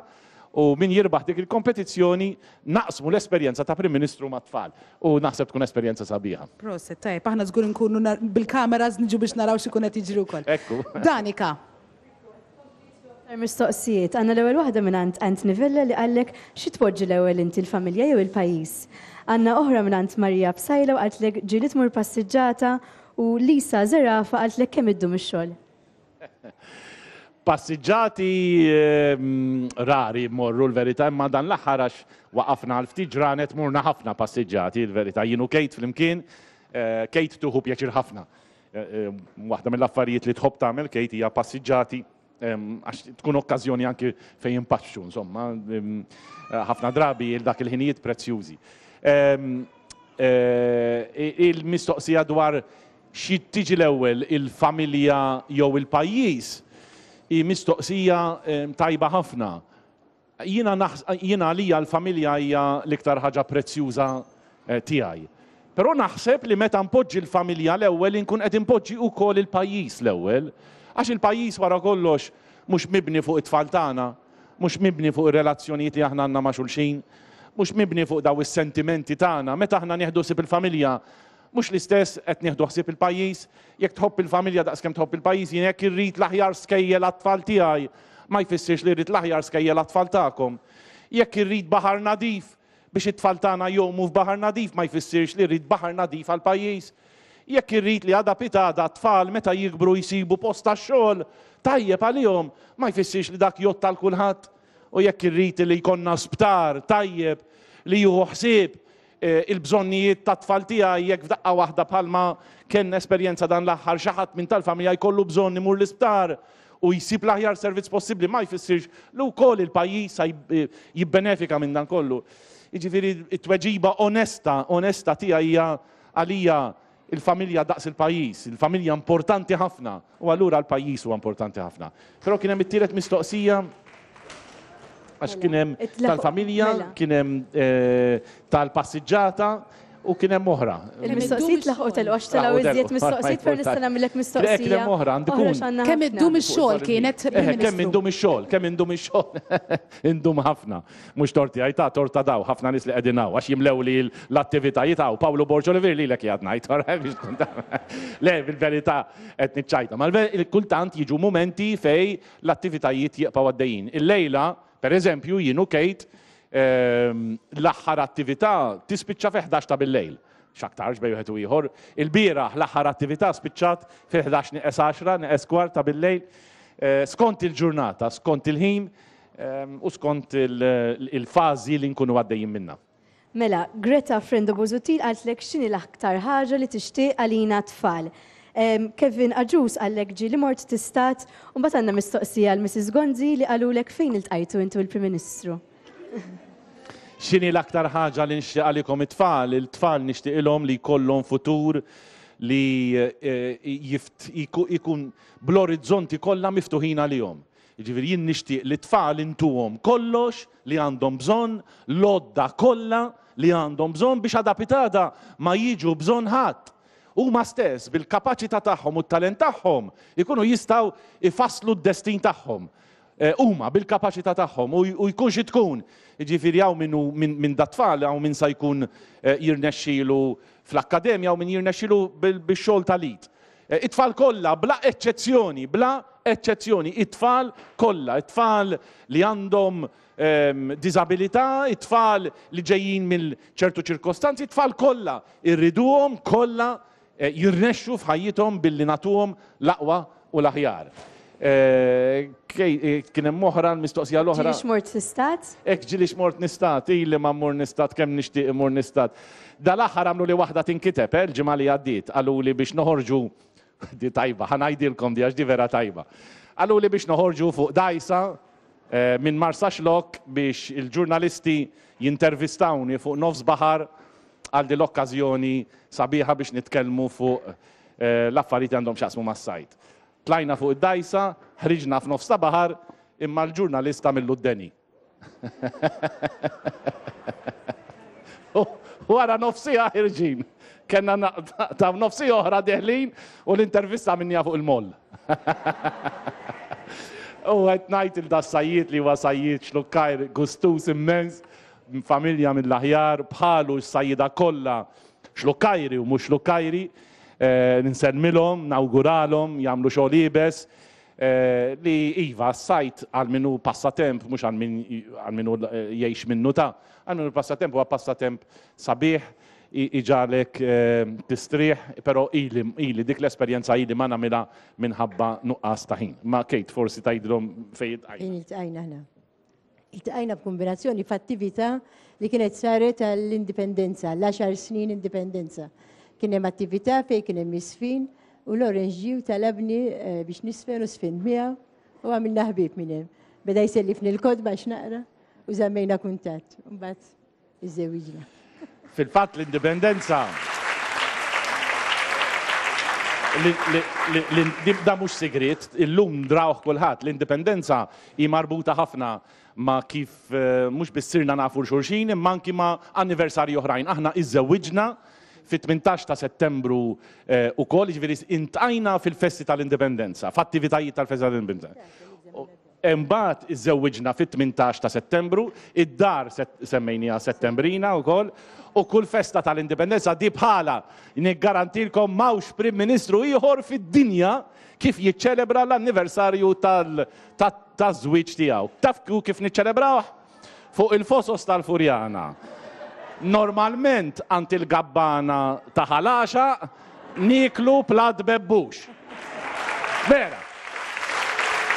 u min jirbaħ dik il-kompetizzjoni naqsmu l-esperjenza ta' Prim Ministru mat-tfal u naħseb tkun esperjenza sabiħa. Proset, tajjeb, aħna żgur inkunu bil-kameras niġu biex naraw x'ikun qed jiġri wkoll. Ekku. Danika. Aktar mistoqsijiet. Għandna l-ewwel waħda mingħand Anthony Vella li qallek xi tpoġġi l-ewwel inti l-familja jew il-pajjiż? Għandna oħra mingħand Maria Psaila u qaltlek ġieli tmur passiġġata u Lisa Zerafa qaltlek kemm iddum ix-xogħol? Passiġġati rari mmorru l-verità imma dan l-aħħar għax waqafna għal ftit ġranet morna ħafna passiġġati l-verità jien u Kate flimkien. Kate tieħu pjaċir ħafna Waħda mill-affarijiet li tħobb tagħmel Kate hija passiġġati għax tkun okkażjoni anki fejn impaxxu, insomma, ħafna drabi il dak il-ħinijiet prezzjużi. Il-mistoqsija dwar xi tiġi l-ewwel il-familja jew il-pajjiż hi mistoqsija tajba ħafna. Jiena jiena għalija l-familja hija l-iktar ħaġa prezzjuża tiegħi. Però naħseb li meta npoġġi l-familja l-ewwel inkun qed inpoġġi wkoll il-pajjiż l-ewwel. Għax il-pajjiż wara kollox mhux mibni fuq it-tfal tagħna, mhux mibni fuq ir-relazzjonijiet li aħna għandna ma' xulxin, mhux mibni fuq daw is-sentimenti tagħna. Meta aħna nieħdu ħsieb il-familja, mhux l-istess qed nieħdu ħsieb il-pajjiż? Jekk tħobb il-familja daqskemm tħobb il-pajjiż, jien jekk irrid l-aħjar skejjel għat-tfal tiegħi, ma jfissirx li rrid l-aħjar skejjel għat-tfal tagħkom. Jekk irrid baħar nadif, Biex it-tfal tagħna jgħumu f'baħar nadif ma jfissirx li rrid baħar nadif għall-pajjiż. Jekk irrid li għada pitgħada t-tfal meta jikbru jsibu post tax-xogħol tajjeb għalihom, ma jfissirx li dak jgħodd għal kulħadd. U jekk irrid li jkollna sptar tajjeb li jieħu ħsieb il-bżonnijiet tat-tfal tiegħi jekk f'daqqa waħda bħalma kellna esperjenza dan l-aħħar xi ħadd minn tal-familja jkollu bżonn imur l-isptar u jsib l-aħjar servizz possibbli ma jfissirx li wkoll il-pajjiż sa jibbenefika minn dan kollu. Jiġifieri t-tweġiba onesta, onesta tiegħi hija għalija il-familja daqs il-pajjiż, il-familja importanti ħafna u allura l-pajjiż huwa importanti ħafna. Però kien hemm it-tielet mistoqsija għax kien hemm tal-familja, mela. kien hemm eh, tal-passiġġata u kien hemm oħra. Il-mistoqsijiet laħqu telqu għax telgħu iżjed mistoqsijiet però nista' nagħmillek mistoqsija. Kien hemm oħra għandi kun. Kemm iddum ix-xogħol kienet Kemm indum ix-xogħol, kemm indum ix-xogħol. Indum ħafna. Mhux torti għaj ta' torta daw, ħafna nies li qegħdin hawn għax jimlew li l-attivitajiet hawn. Pawlu Borg Olivier lilek qiegħed ngħid, biex tkun taf. Le, bil-verità qed niċċajta. Ma kultant jiġu mumenti fej l-attivitajiet jibqgħu għaddejjin. Illejla, per eżempju, jien u Kate L-aħħar attività tispiċċa fi 11 ta' bil-lejl. X'aktarx bejn wieħed u ieħor. Il-bieraħ l-aħħar attività spiċċat fi 11 nieqes 10, nieqes kwart ta' bil-lejl. Skont il-ġurnata, skont il-ħin u skont il-fażi li nkunu għaddejjin minnha. Mela, Greta Frendo Busuttil qaltlek x'inhi l-aktar ħaġa li tixtieq għalina t-tfal. Kevin Agius qallek ġieli mort tistat u mbagħad għandna mistoqsija għal Mrs Gonzi li qalulek fejn iltqajtu inti u l-Prim Ministru. X'inhi l-aktar ħaġa li nixtieq għalikom it-tfal? Il-tfal nixtieqilhom li jkollhom futur li jkun bl-orizzonti kollha miftuħin għalihom. Jiġifieri jien nixtieq li t-tfal intuhom kollox li għandhom bżonn, l-għodda kollha li għandhom bżonn biex għada pitgħada ma jiġu bżonn ħadd. Huma stess, bil-kapaċità tagħhom u t-talent tagħhom, ikunu jistgħu jfasslu d-destin tagħhom. Huma, bil-kapaċità tagħhom, u jkun xi tkun. Jiġifieri hawn min hu minn dat-tfal, hawn min sa jkun jirnexxilu fl-akkademja, hawn min jirnexxilu bix-xogħol tal-id. It-tfal kollha, bla eċċezzjoni, bla eċċezzjoni, it-tfal kollha, it-tfal li għandhom diżabilità, it-tfal li ġejjin minn ċertu ċirkostanzi, it-tfal kollha irriduhom kollha jirnexxu f'ħajjithom billi nagħtuhom l-aqwa u l-aħjar. Kien hemm oħra l-mistoqsija l-oħra. Ġieli xmort nistat? Hekk ġieli xmort nistat, ili ma mmur nistat kemm nixtieq immur nistat. Dal-aħħar għamlu li waħda tinkiteb, eh, l-ġimgħa li għaddiet, qaluli biex noħorġu di tajba, ħa ngħidilkom di għax di vera tajba. Qaluli biex noħorġu fuq dgħajsa minn Marsaxlokk biex il-ġurnalisti jintervistawni fuq nofs baħar għal din l-okkażjoni sabiħa biex nitkellmu fuq l-affarijiet li għandhom x'jaqsmu mas-sajd. Tlajna fuq id-dgħajsa, ħriġna f'nofs ta' baħar, imma l-ġurnalist għamillu d-deni. Wara nofs siegħa ħirġin. Kellna naqtgħu nofs siegħa oħra deħlin u l-intervista għamilniha fuq il-moll. U qed ngħid il das-sajjied li huwa sajjied xlukkajr gustuż immens, familja mill-aħjar, bħalu s-sajjieda kollha xlukkajri u mhux xlukkajri. Nsellmilhom, nawguralhom, jagħmlu xogħol iebes. Li iva, s-sajd għal min hu passatemp, mhux għal min għal min hu jgħix minnu ta'. Għal min hu passatemp huwa passatemp sabiħ, iġagħlek tistrieħ, però ili ili dik l-esperjenza ili ma nagħmilha minħabba nuqqas ta' ħin. Ma Kate forsi tgħidilhom fejn iltqajna. Fejn iltqajna aħna. Iltqajna b'kombinazzjoni f'attività li kienet saret għall-indipendenza, l-għaxar snin indipendenza. Kien hemm attività fejn kien hemm isfin u Lawrence ġie u talabni eh, biex nisfen u sfint miegħu u għamilna ħbieb minn hemm. Beda jsellifni l-kotba għax naqra u żammejna kuntatt. Mbagħad iżżewwiġna. Fil-fatt l-indipendenza. Da mhux sigriet, illum drawh kulħadd, l-Indipendenza hi marbuta ħafna ma' kif mhux biss sirna nafu 'l xulxin imma anki ma' anniversarji oħrajn. Aħna iżżewwiġna fit-18 ta' Settembru ukoll, jiġifieri intqajna fil-festi tal-Indipendenza, f'attivitajiet tal-festi tal-Indipendenza. Imbagħad iżżewwiġna fit-18 ta' Settembru, id-dar semmejniha Settembrina wkoll, u kull festa tal-Indipendenza di bħalha. Niggarantilkom m'hawnx Prim Ministru ieħor fid-dinja kif jiċċelebra l-anniversarju taż-żwieġ tiegħu. Taf kif niċċelebrawh? Fuq il-fosos tal-Furjana. Normalment għand il-gabbana ta' Ħal Għaxaq nieklu platt bebbux. Vera.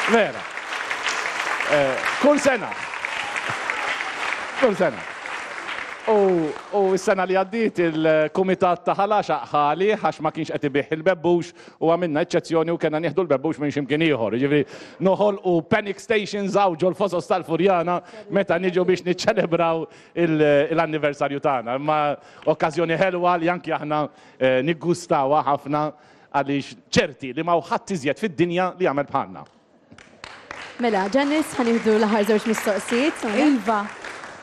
Vera. Kull sena. Kull sena. U s-sena li għaddiet il-kumitat ta' Ħal Għaxaq ħa għalih għax ma kienx qed ibigħ il-bebbux u għamilna eċċezzjoni u kellna nieħdu l-bebbux minn x'imkien ieħor. Jiġifieri noħolqu panic stations hawn ġol-fosos tal-Furjana meta niġu biex niċċelebraw l-anniversarju tagħna. Imma okkażjoni ħelwa li anki aħna eh, niggustawha ħafna għaliex ċerti li m'hawn ħadd iżjed fid-dinja li jagħmel bħalna. Mela, Janice, ħa nieħdu l-aħħar żewġ mistoqsijiet. Iva,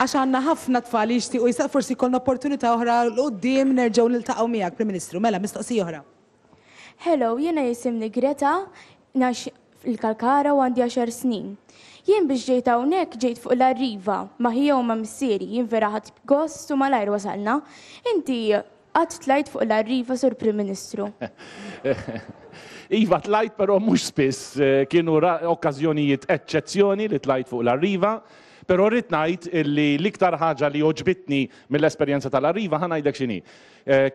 għax għandna ħafna tfal li jixtiequ jistaqsu, forsi jkollna opportunità oħra 'l quddiem nerġgħu niltaqgħu miegħek, Prim Ministru. Mela, mistoqsija oħra. Hello, jiena jisimni Greta, ngħix il-Kalkara u għandi għaxar snin. Jien biex ġejt hawnhekk ġejt fuq l-Arriva, ma' ħija u ma' missieri, jien vera ħadt gost u malajr wasalna. Inti qatt tlajt fuq l-Arriva, Sur Prim Ministru? Iva tlajt però mhux spiss, kienu okkażjonijiet eċċezzjoni li tlajt fuq l-Arriva, però rrid ngħid li l-iktar ħaġa li għoġbitni mill-esperjenza tal-Arriva ħa ngħidlek x'inhi.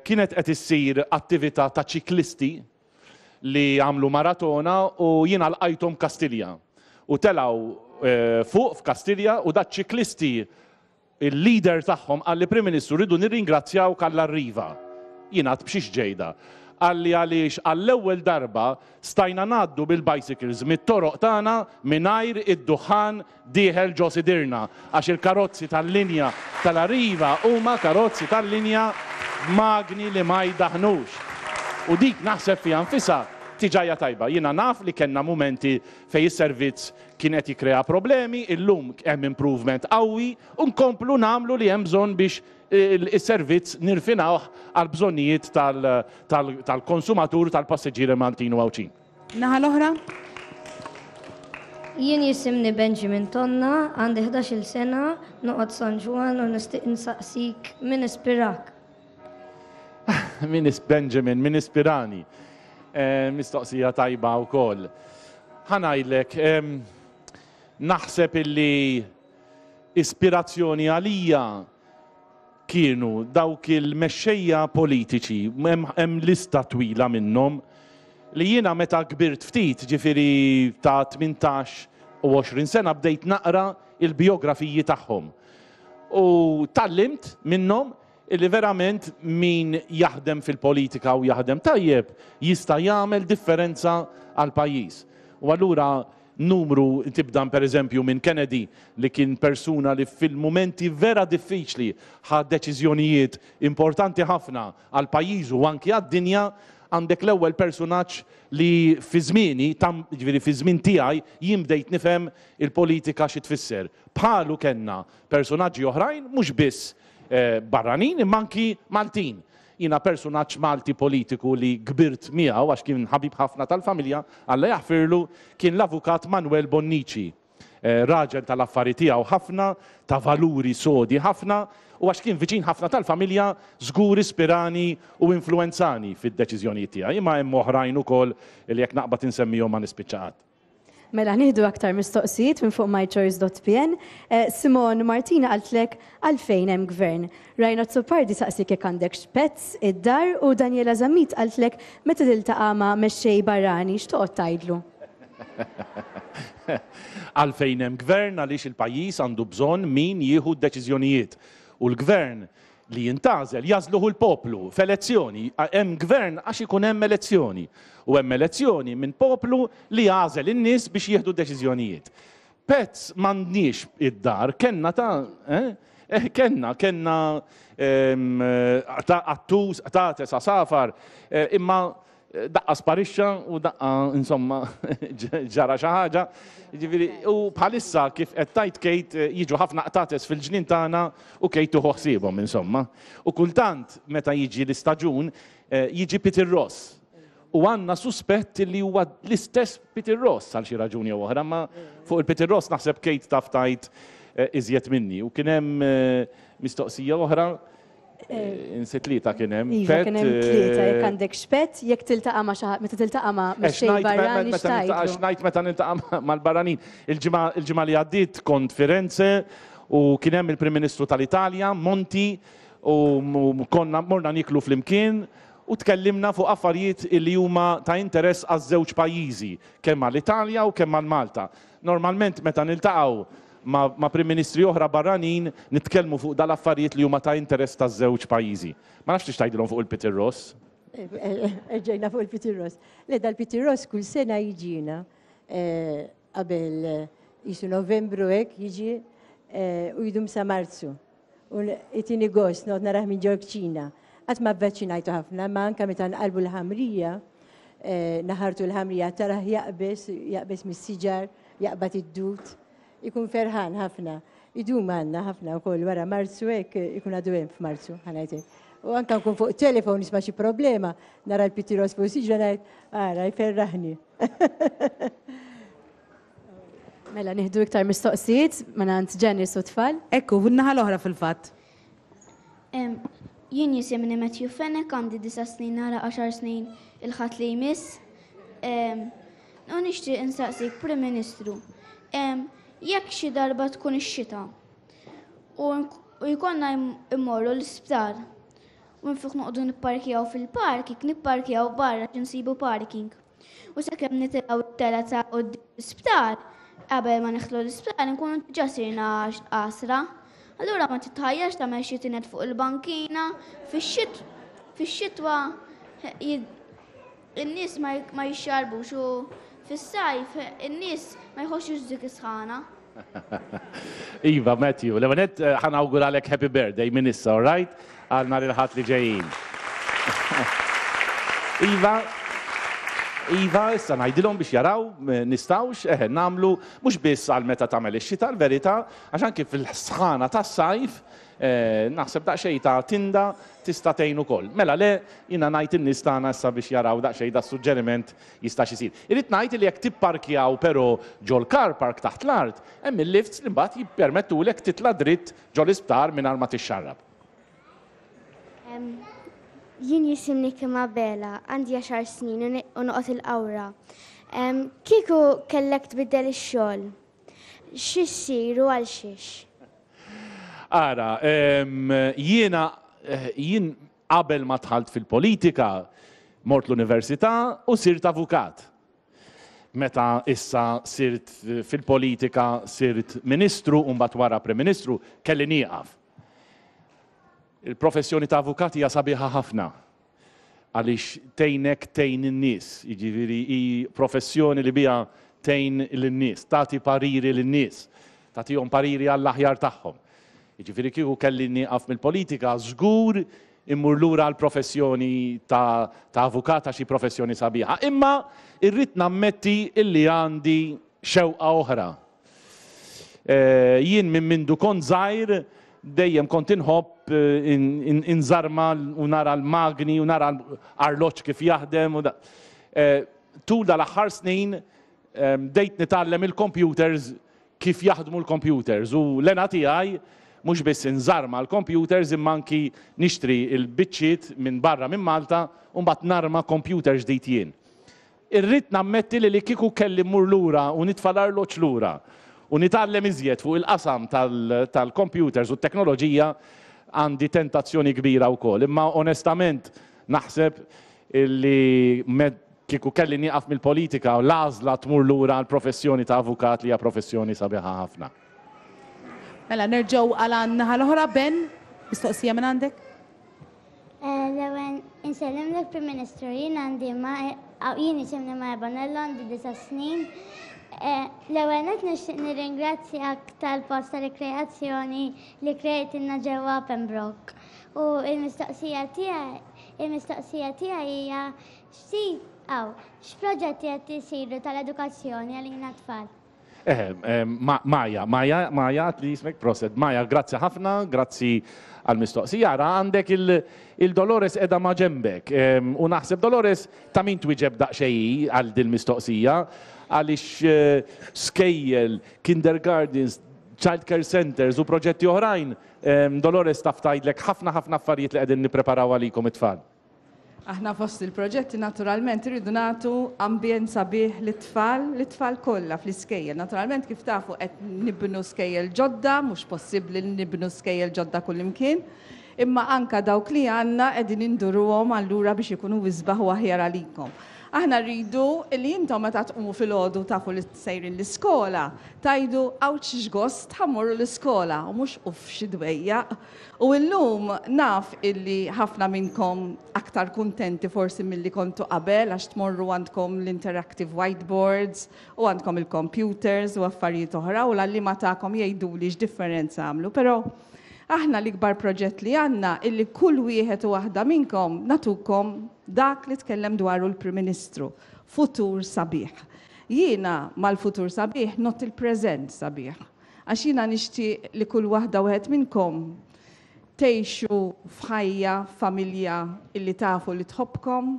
Kienet qed issir attività ta' ċiklisti li għamlu maratona u jiena lqajthom Kastilja. U telgħu fuq f'Kastilja u daċ-ċiklisti il-leader tagħhom qalli Prim Ministru rridu nirringrazzjawk għall-Arriva. Jien għedt b'xiex ġejda. Qalli għaliex għall-ewwel darba stajna ngħaddu bil-bicycles mit-toroq tagħna mingħajr id-duħħan dieħel ġo sidirna għax il-karozzi tal-linja tal-Arriva huma karozzi tal-linja b'magni li ma jdaħħnux. U dik naħseb fiha nfisha diġà hija tajba. Jiena naf li kellna mumenti fejn is-servizz kien qed jikkrea problemi, illum hemm improvement qawwi u nkomplu nagħmlu li hemm bżonn biex is-servizz nirfinawh għall-bżonnijiet tal-konsumatur, tal-passiġġieri Maltin u Għawdxin. Naħa l-oħra. Jien jisimni Benjamin Tonna, għandi 11-il sena, noqgħod San Ġwann u nixtieq insaqsik min ispirak? Min is Benjamin, min ispirani? Eh, mistoqsija tajba wkoll. Ħa ngħidlek, naħseb illi ispirazzjoni għalija kienu dawk il-mexxejja politiċi, hemm lista twila minnhom, li jiena meta kbirt ftit, ġifieri ta' 18 u 20 sena bdejt naqra il-bijografiji tagħhom. U tgħallimt minnhom illi verament min jaħdem fil-politika u jaħdem tajjeb jista' jagħmel differenza għall-pajjiż. U allura Numru, tibda pereżempju minn Kennedy li kien persuna li fil-mumenti vera diffiċli ħa deċiżjonijiet importanti ħafna għal pajjiżu u anki għad-dinja, għandek l-ewwel persunaġġ li fi żmieni, jiġifieri fi żmien tiegħi, jien bdejt nifhem il-politika xi tfisser. Bħalu kellna persunaġġi oħrajn mhux biss barranin imma anki Maltin. Jiena persunaġġ Malti politiku li kbirt miegħu għax kien ħabib ħafna tal-familja, Alla jaħfirlu, kien l-Avukat Manuel Bonnici. Raġel tal-affari tiegħu ħafna, ta' valuri sodi ħafna u għax kien viċin ħafna tal-familja żgur ispirani u influwenzani fid-deċiżjonijiet tiegħi. Imma hemm oħrajn ukoll li jekk naqbad insemmihom ma nispiċċa qatt. Mela nieħdu aktar mistoqsijiet minn fuq mychoice.pn. Eh, Simon Martina qaltlek għalfejn hemm gvern. Ryan Azzopardi saqsik jekk għandekx pets id-dar u Daniela Zammit qaltlek meta tiltaqa' ma' mexxej barrani x'toqgħod tgħidlu? Għalfejn hemm gvern għaliex il-pajjiż għandu bżonn min jieħu d-deċiżjonijiet. U l-gvern li jintgħażel jagħżluh il-poplu f'elezzjoni. Hemm gvern għax ikun hemm elezzjoni. U hemm elezzjoni minn poplu li għażel in-nies biex jieħdu deċiżjonijiet. Pets m'għandniex id-dar, kellna ta' eh? Eh, kellna, kellna ehm, ta' qattus, qtates, għasafar, eh, imma Daqqa sparixxa u daqqa insomma ġara xi ħaġa. Jiġifieri u bħalissa kif qed tgħid Kate jiġu ħafna qtates fil-ġnien tagħna u Kate tieħu ħsiebhom insomma. U kultant meta jiġi l-istaġun jiġi Peter Ross. U għandna suspett li huwa l-istess Peter Ross għal xi raġuni jew oħra, ma fuq il-Peter Ross naħseb Kate taf tgħid iżjed minni. U kien hemm mistoqsija oħra. Insi tlieta kien hemm. Iva, kien hemm tlieta jekk għandek xpett, jekk tiltaqa' ma' xi meta tiltaqa' ma' mexxej barrani x'tgħidlu. X'ngħid meta niltaqa' mal-barranin. Il-ġimgħa li għaddiet kont Firenze u kien hemm il-Prim Ministru tal-Italja, Monti, u konna morna nieklu flimkien u tkellimna fuq affarijiet li huma ta' interess għaż-żewġ pajjiżi, kemm għall-Italja u kemm għal Malta. Normalment meta niltaqgħu ma' Prim Ministri oħra barranin nitkellmu fuq dal-affarijiet li huma ta' interess taż-żewġ pajjiżi. Ma nafx tix tgħidilhom fuq il-Peter Ross. Erġajna fuq il-Peter Ross. Le dal-Peter Ross kull sena jiġina qabel jisu Novembru hekk jiġi u jdum sa Marzu. U itini gost noqgħod narah minn ġol-kċina. Qatt ma avvaċinajtu ħafna, ma anke meta nqalbu l-ħamrija, naħartu l-ħamrija tarah jaqbeż, jaqbeż mis-siġar, jaqbad id-dud. Ikun ferħan ħafna. Idum għandna ħafna wkoll wara Marzu hekk ikun għadu hemm f'Marzu, ħa ngħid hekk. U anke nkun fuq telefon nisma' xi problema, nara l-pitiros fuq siġra ngħid, ara jferraħni. Mela nieħdu iktar mistoqsijiet mingħand Janice u tfal. Ekku, naħa l-oħra fil-fatt. Jien jisimni Matthew Fenech, għandi disa' snin nara għaxar snin il-Ħadd li jmiss. U nixtieq insaqsik, Prim Ministru, jekk xi darba tkun ix-xita u jkollna immorru l-isptar u minflok noqogħdu nipparkjaw fil-parking, nipparkjaw barra nsibu parking. U sakemm nitilgħu t-telgħa ta' quddiem l-isptar, qabel ma nidħlu l-isptar inkunu diġà sirna għasra. Allura ma titħajjarx tagħmel xi tined fuq il-bankina, fix-xitwa in-nies ma jixxarbux u fis-sajf in-nies ma jħossux dik is-sħana. Iva, Matthew, l-ewwel nett eh, ħa nawguralek happy birthday minn issa, all right? Għal nhar il-Ħadd li ġejjin. Iva, Iva, issa ngħidilhom biex jaraw eh, nistgħux eh, nagħmlu mhux biss għal meta tagħmel ix-xita l-verità, għax anki fil-sħana tas-sajf eh, naħseb daqsxejn ta' tinda tista' tgħin ukoll. Mela le, jiena ngħid in-nies tagħna issa biex jaraw daqsxejn da suġġeriment Jistax isir. Irrid ngħid li jekk tipparkjaw però ġol-car park taħt l-art, hemm il-lifts li mbagħad jippermettulek titla' dritt ġol-isptar mingħajr ma tixxarrab. Jien jisimni Kim Abela, għandi għaxar snin u noqgħod il-Qawra. Kieku kellek tbiddel ix-xogħol, xi ssir u għal xiex? Ara, jiena jien Qabel ma dħalt fil-politika, mort l-università u sirt avukat. Meta issa sirt fil-politika, sirt ministru u mbagħad wara Prim Ministru, kelli nieqaf. Il-professjoni ta' avukat hija sabiħa ħafna għaliex tgħinek tgħin in-nies, jiġifieri hi professjoni li biha tgħin lin-nies, tagħti pariri lin-nies, tagħtihom pariri għall-aħjar tagħhom. Jiġifieri kieku kelli nieqaf mill-politika żgur immur lura għall-professjoni ta' ta' avukat għax hi professjoni sabiħa. Imma irrid nammetti illi għandi xewqa oħra. Jien minn mindu kont żgħir dejjem kont inħobb inżarma u nara l-magni u nara l-arloġġ kif jaħdem u Tul dal-aħħar snin bdejt nitgħallem il-computers kif jaħdmu l-computers u l-hena tiegħi mhux biss inżarma l-computers imma anki nixtri l-biċċiet minn barra minn Malta u mbagħad narma computer ġdid jien. Irrid nammetti li li kieku kelli mmur lura u nitfa' l-arloġġ lura u nitgħallem iżjed fuq il-qasam tal-computers u t-teknoloġija għandi tentazzjoni kbira wkoll. Imma onestament naħseb li Kieku kelli nieqaf mill-politika, l-għażla tmur lura għall-professjoni ta' avukat li hija professjoni sabiħa ħafna. Mela nerġgħu għal għan-naħa l-oħra, Ben, mistoqsija minn għandek? L-ewwel insellimlek Prim Ministru, jien għandi ma jien jisimni Maja Bonello għandi disa' snin. L-ewwel nett nixtieq nirringrazzjak tal-post ta' rikreazzjoni li krejtilna ġewwa Pembroke. U l-mistoqsija tiegħi. Il-mistoqsija tiegħi hija x'ti aw x'proġetti qed isiru tal-edukazzjoni għalina tfal. Eh, eh, Maja, Maja, Maja, li jismek proset. Maja, grazzi ħafna, grazzi għal-mistoqsija. Ara għandek il-Dolores edha ma ġembek. U naħseb Dolores ta' min twieġeb daqsxejn għal dil-mistoqsija għaliex eh, skejjel, kindergartens, child care centers u proġetti oħrajn, Dolores taf tgħidlek ħafna ħafna affarijiet li qegħdin nippreparaw għalikom it-tfal. Aħna fost il-proġetti naturalment irridu nagħtu ambjent sabiħ lit-tfal, lit-tfal kollha fl-iskejjel. Naturalment kif tafu qed nibnu skejjel ġodda, mhux possibbli li nibnu skejjel ġodda kullimkien, imma anka dawk li għandna qegħdin induruhom allura biex ikunu isbaħ u aħjar għalikom. Aħna rridu li intom meta tqumu filgħodu tafu li sejrin l-iskola, tgħidu awċ x'gost ħa mmorru l-iskola u mhux uff xi dwejjaq. U illum naf illi ħafna minnkom aktar kuntenti forsi milli kontu qabel għax tmorru għandkom l-interactive whiteboards u għandkom il-computers u affarijiet oħra u l-għalliema tagħkom jgħiduli x'differenza għamlu. Però aħna l-ikbar proġett li għandna illi kull wieħed u waħda minnkom nagħtukom dak li tkellem dwaru l-Prim Ministru, futur sabiħ. Jiena mal-futur sabiħ ngħodd il-preżent sabiħ. Għax jiena nixtieq li kull waħda u wieħed minnkom tgħixu f'ħajja, f'familja illi tafu li tħobbkom,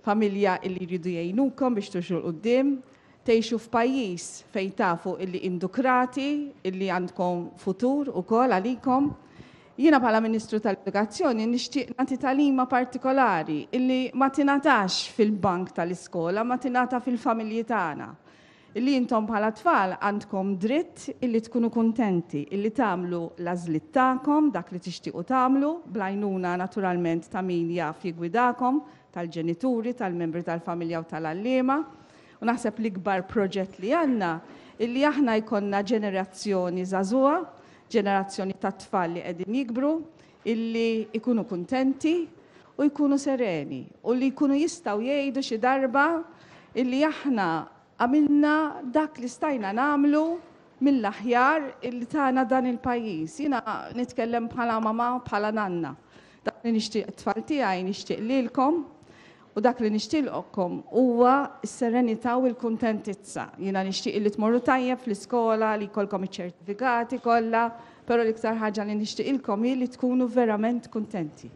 familja illi jridu jgħinukom biex timxu 'l quddiem, tgħixu f'pajjiż fejn tafu illi indukrati, illi għandkom futur ukoll għalikom. Jiena bħala Ministru tal-Edukazzjoni nixtieq nagħti tagħlima partikolari illi ma tingħatax fil-bank tal-iskola, ma tingħata fil-familji tagħna. Illi intom bħala tfal għandkom dritt illi tkunu kuntenti, illi tagħmlu l-għażliet tagħkom, dak li tixtiequ tagħmlu, bl-għajnuna naturalment ta' min jaf jiggwidakom, tal-ġenituri, tal-membri tal-familja u tal-għalliema. U naħseb l-ikbar proġett li għandna illi aħna jkollna ġenerazzjoni żagħżugħa Ġenerazzjoni ta' tfal li qegħdin jikbru illi jkunu kuntenti u jkunu sereni u li jkunu jistgħu jgħidu xi darba illi aħna għamilna dak li stajna nagħmlu mill-aħjar illi tana dan il-pajjiż. Jiena nitkellem bħala mamà, bħala nanna. Dak li nixtieq it-tfal tiegħi nixtieq lilkom U dak li nixtielqkom huwa s-serenità u l-kuntentizza. Jiena nixtieq li tmorru tajjeb fl-iskola, li jkollkom iċ-ċertifikati kollha, però l-iktar ħaġa li nixtieqilkom hi li tkunu verament kuntenti.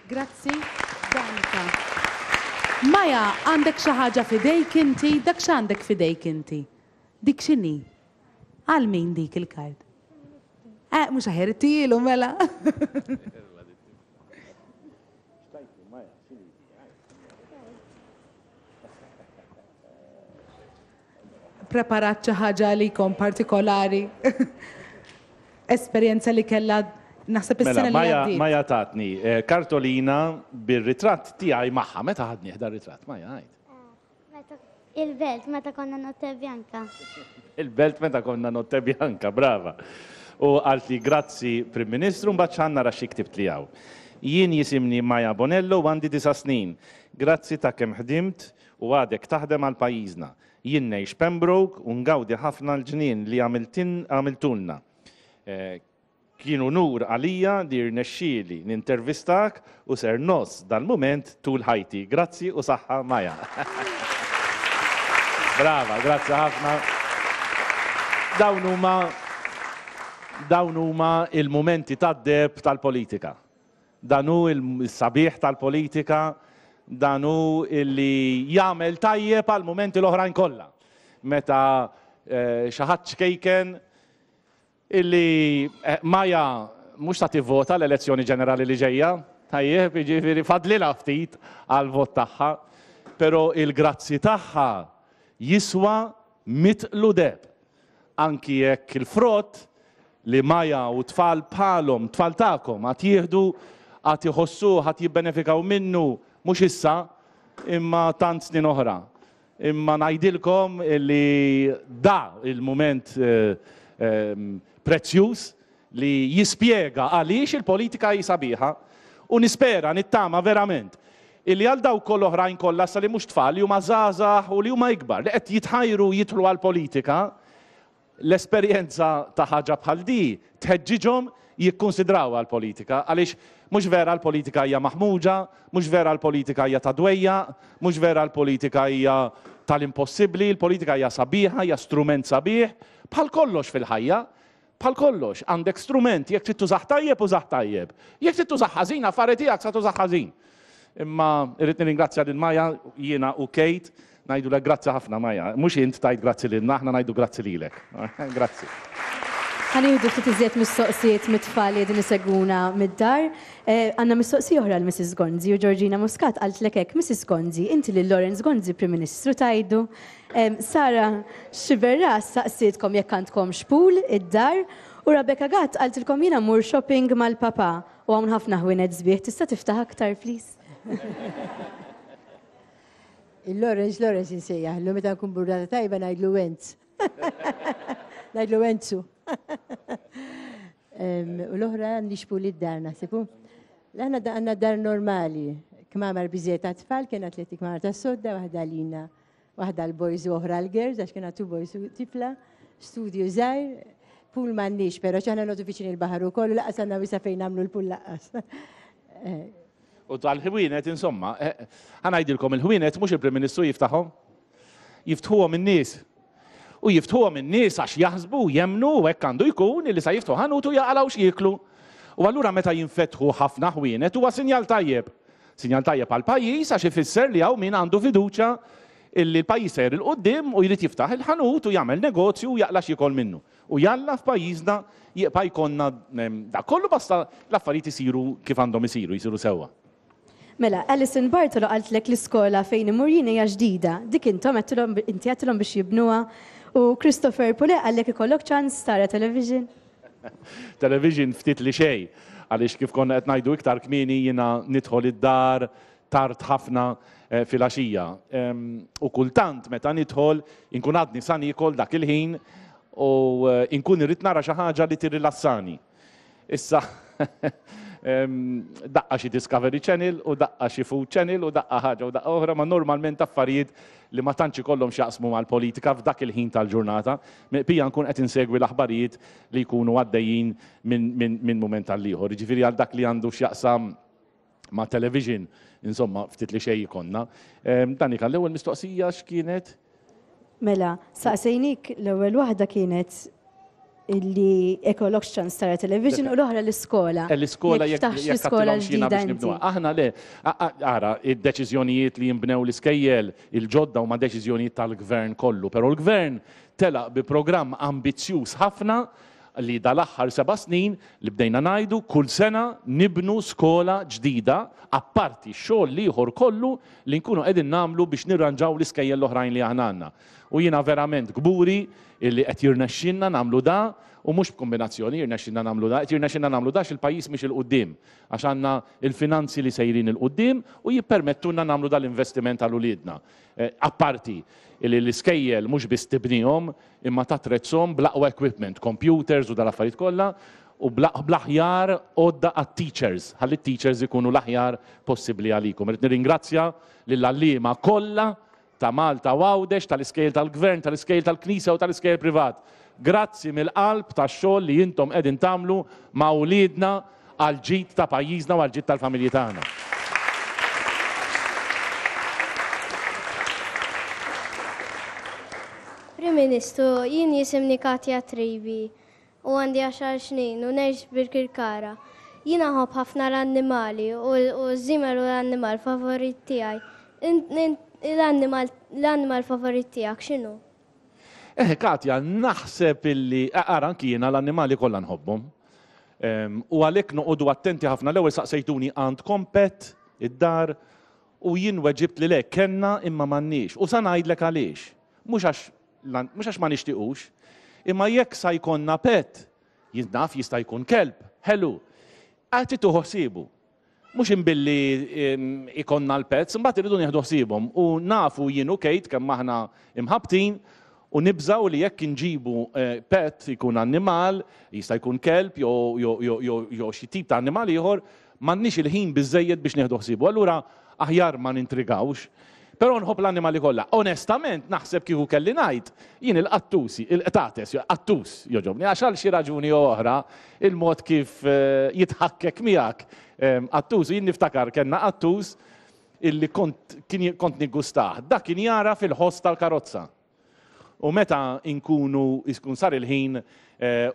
Grazzi, Danica. Maya, għandek xi ħaġa f'idejk inti? Dak x'għandek f'idejk inti? Dik x'inhi? Għal min dik il-kard? Eh, mhux aħjar ittihielu mela. Preparat xi ħaġa għalikom partikolari? Esperjenza li kellha naħseb is-sena mela, li għaddiet. Maja tatni eh, kartolina bir-ritratt tiegħi magħha. Meta ħadni dar ritratt Maja għid. Il-belt meta konna Notte Bianca. Il-belt meta konna Notte Bianca, brava. U qaltli grazzi Prim Ministru, mbagħad x'għandna nara xi ktibtli hawn. Jien jisimni Maja Bonello u għandi disa' snin. Grazzi ta' kemm ħdimt u għadek taħdem għal pajjiżna. Jien ngħix Pembroke u ngawdi ħafna l-ġnien li għamiltulna. Eh, Kien unur għalija li rnexxieli nintervistak u ser ngħożż dal-mument tul ħajti. Grazzi u saħħa Maya. Brava, grazzi ħafna. Dawn huma dawn huma il-mumenti tad-deheb tal-politika. Dan hu l-sabiħ tal-politika, dan hu li jagħmel tajjeb għall-mumenti l-oħrajn kollha. Meta eh, xi ħadd ċkejken Illi Maja mhux sa tivvota l-elezzjoni ġenerali li ġejja, tajjeb, jiġifieri fadlilha ftit għall-vot tagħha, però il-grazzi tagħha jiswa mitqlu deheb. Anki jekk il-frott li Maja u tfal bħalhom, tfal tagħkom, għad jieħdu, għad iħossuh, għad jibbenefikaw minnu, mhux issa, imma tant snin oħra. Imma ngħidilkom li da il-mument prezzjuż li jispjega għaliex il-politika hi sabiħa u nispera, nittama verament, illi għal dawk l-oħrajn kollha issa li mhux tfal, li huma żgħażagħ u li huma ikbar, li qed jitħajru jidħlu għall-politika, L-esperjenza ta' ħaġa bħal di tħeġġiġhom jikkunsidrawha l-politika għaliex mhux vera l-politika hija maħmuġa, mhux vera l-politika hija ta' dwejjaq, mhux vera l-politika hija tal-impossibbli, il-politika hija sabiħa, hija strument sabiħ, bħal kollox fil-ħajja. Bħal kollox, għandek strument, jekk trid tużah tajjeb użah tajjeb. Jekk trid tużah ħażin, affari tiegħek sa tużah ħażin. Imma irrid nirringrazzja lil Maja, jiena u Kate, ngħidulek grazzi ħafna Maja. Mhux int tgħid grazzi lilna, aħna ngħidu grazzi lilek. Grazzi. Ħa nieħdu ftit iżjed mistoqsijiet mit-tfal li qegħdin isegwuna mid-dar. Għandna mistoqsija oħra għal Mrs Gonzi u Georgina Muscat qaltlek hekk, Mrs Gonzi, inti lil Lawrence Gonzi Prim Ministru tgħidu? Sara Sciberras saqsietkom jekk għandkomx pool id-dar u Rebecca Gatt qaltilkom jiena mmur shopping mal-papà u hawn ħafna ħwienet sbieħ tista' tiftaħ aktar please? Il-Lawrence, Lawrence insejjaħlu, meta nkun burdata tajba ngħidlu Wenz. Ngħidlu Wenzu. U l-oħra għandix pool id-dar naħseb. Aħna għandna dar normali, kmamar biżejjed għat-tfal, kien atleti kmamar tas-sodda, waħda lina, waħda l-boys u oħra l-girls, għax kien two boys u tifla, studio żgħir, pool m'għandniex, però ċaħna nodu viċin il-baħar ukoll, laqas għandna wisa fejn nagħmlu l-pool laqqas. U tal-ħwienet, insomma, eh, ħa ngħidilkom il-ħwienet mhux il-Prim Ministru jiftaħhom. Jiftħuhom in-nies. U jiftħuhom in-nies għax jaħsbu u jemmnu u hekk għandu jkun illi sa jiftħu ħanut u jaqalgħu x'jieklu. U allura meta jinfetħu ħafna ħwienet huwa sinjal tajjeb. Sinjal tajjeb għall-pajjiż għax ifisser li hawn min għandu fiduċja illi l-pajjiż sejjer 'il quddiem u jrid jiftaħ il-ħanut u jagħmel negozju u jaqla' x'jiekol minnu. U jalla f'pajjiżna jibqa' jkollna dak kollu basta l-affarijiet isiru kif għandhom isiru, jsiru sewwa. Mela, Alison Bartolo qaltlek l-iskola fejn immur jien hija ġdida. Dik intom għedtilhom inti għedtilhom biex jibnuha u Christopher Pulè qallek ikollok ċans tara television? Television ftit li xejn, għaliex kif konna qed ngħidu iktar kmieni jiena nidħol id-dar tard ħafna filgħaxija. U kultant meta nidħol inkun għadni sa niekol dak il-ħin u inkun irrid nara xi ħaġa li tirrilassani. Issa daqqa xi Discovery Channel u daqqa xi Food Channel u daqqa ħaġa u daqqa oħra, ma normalment affarijiet li ma tantx ikollhom x'jaqsmu mal-politika f'dak il-ħin tal-ġurnata. Miqpija nkun qed insegwi l-aħbarijiet li jkunu għaddejjin minn mument għal ieħor. Jiġifieri għal dak li għandu x'jaqsam ma' television, insomma, ftit li xejn ikollna. Danika, l-ewwel mistoqsija x'kienet? Mela, saqsejnik l-ewwel waħda kienet illi ekolokx ċans tara television u l-oħra l-iskola. Eh, l-iskola jekk l-iskola ġdida. Aħna le, ara, id-deċiżjonijiet li jinbnew l-iskejjel il-ġodda huma deċiżjonijiet tal-gvern kollu, però l-gvern telaq bi programm ambizzjuż ħafna li dal-aħħar seba' snin li bdejna ngħidu kull sena nibnu skola ġdida apparti x-xogħol l-ieħor kollu li nkunu qegħdin nagħmlu biex nirranġaw l-iskejjel l-oħrajn li aħna għandna. U jiena verament kburi illi qed jirnexxilna nagħmlu da u mhux b'kumbinazzjoni jirnexxilna nagħmlu da, qed jirnexxilna nagħmlu da għax il-pajjiż miexi 'l quddiem, għax għandna l-finanzi li sejrin 'il quddiem u jippermettulna nagħmlu dal-investiment għal uliedna. Apparti li l-iskejjel mhux biss tibnihom imma tattrezzhom bl-aqwa equipment, computers u dal-affarijiet kollha, u bl-aħjar għodda għat-teachers, ħalli t-teachers ikunu l-aħjar possibbli għalikom. Irrid nirringrazzja lill-għalliema kollha ta' Malta u Għawdex, tal-iskejjel tal-Gvern, tal-iskejjel tal-Knisja u tal-iskejjel privat. Grazzi mill-qalb tax-xogħol li intom qegħdin tagħmlu ma' uliedna għall-ġid ta' pajjiżna u għall-ġid tal-familji tagħna. Prim Ministru, jien jisimni Katja Tribi u għandi għaxar snin u ngħix Birkirkara. Jiena nħobb ħafna l-annimali u ż-żiemel hu l-annimal favorit tiegħi. L-annimal favorit tiegħek x'inhu? Eh, Katja, naħseb illi, ara anki jiena l-annimali kollha nħobbhom. U għalhekk noqogħdu attenti ħafna. L-ewwel saqsejtuni għandkom pet id-dar u jien weġibt li le, kellna imma m'għandniex. U sa ngħidlek għaliex. Mhux għax mhux għax ma nixtiequx, imma jekk sa jkollna pet, jien naf jista' jkun kelb, ħelu, għad trid tieħu ħsiebu. Mhux imbilli ikonna l-pets, imbagħad irridu nieħdu ħsiebhom u nafu jien u Kate kemm aħna imħabbtin u nibżgħu li jekk inġibu pet ikun annimal, jista' jkun kelb jew xi tip ta' annimal ieħor, m'għandniex il-ħin biżżejjed biex nieħdu ħsiebu. Allura aħjar ma nintrigawx. Però nħobb l-annimali kollha. Onestament naħseb kieku kelli ngħid, jien il-qattusi, il-qtates, qattus jogħġobni għax għal xi raġuni jew oħra il-mod kif jitħakkek miegħek qattus, jien niftakar kellna qattus illi kont kont niggustah. Dak kien jara fil-ħoss tal-karozza. U meta nkunu jkun sar il-ħin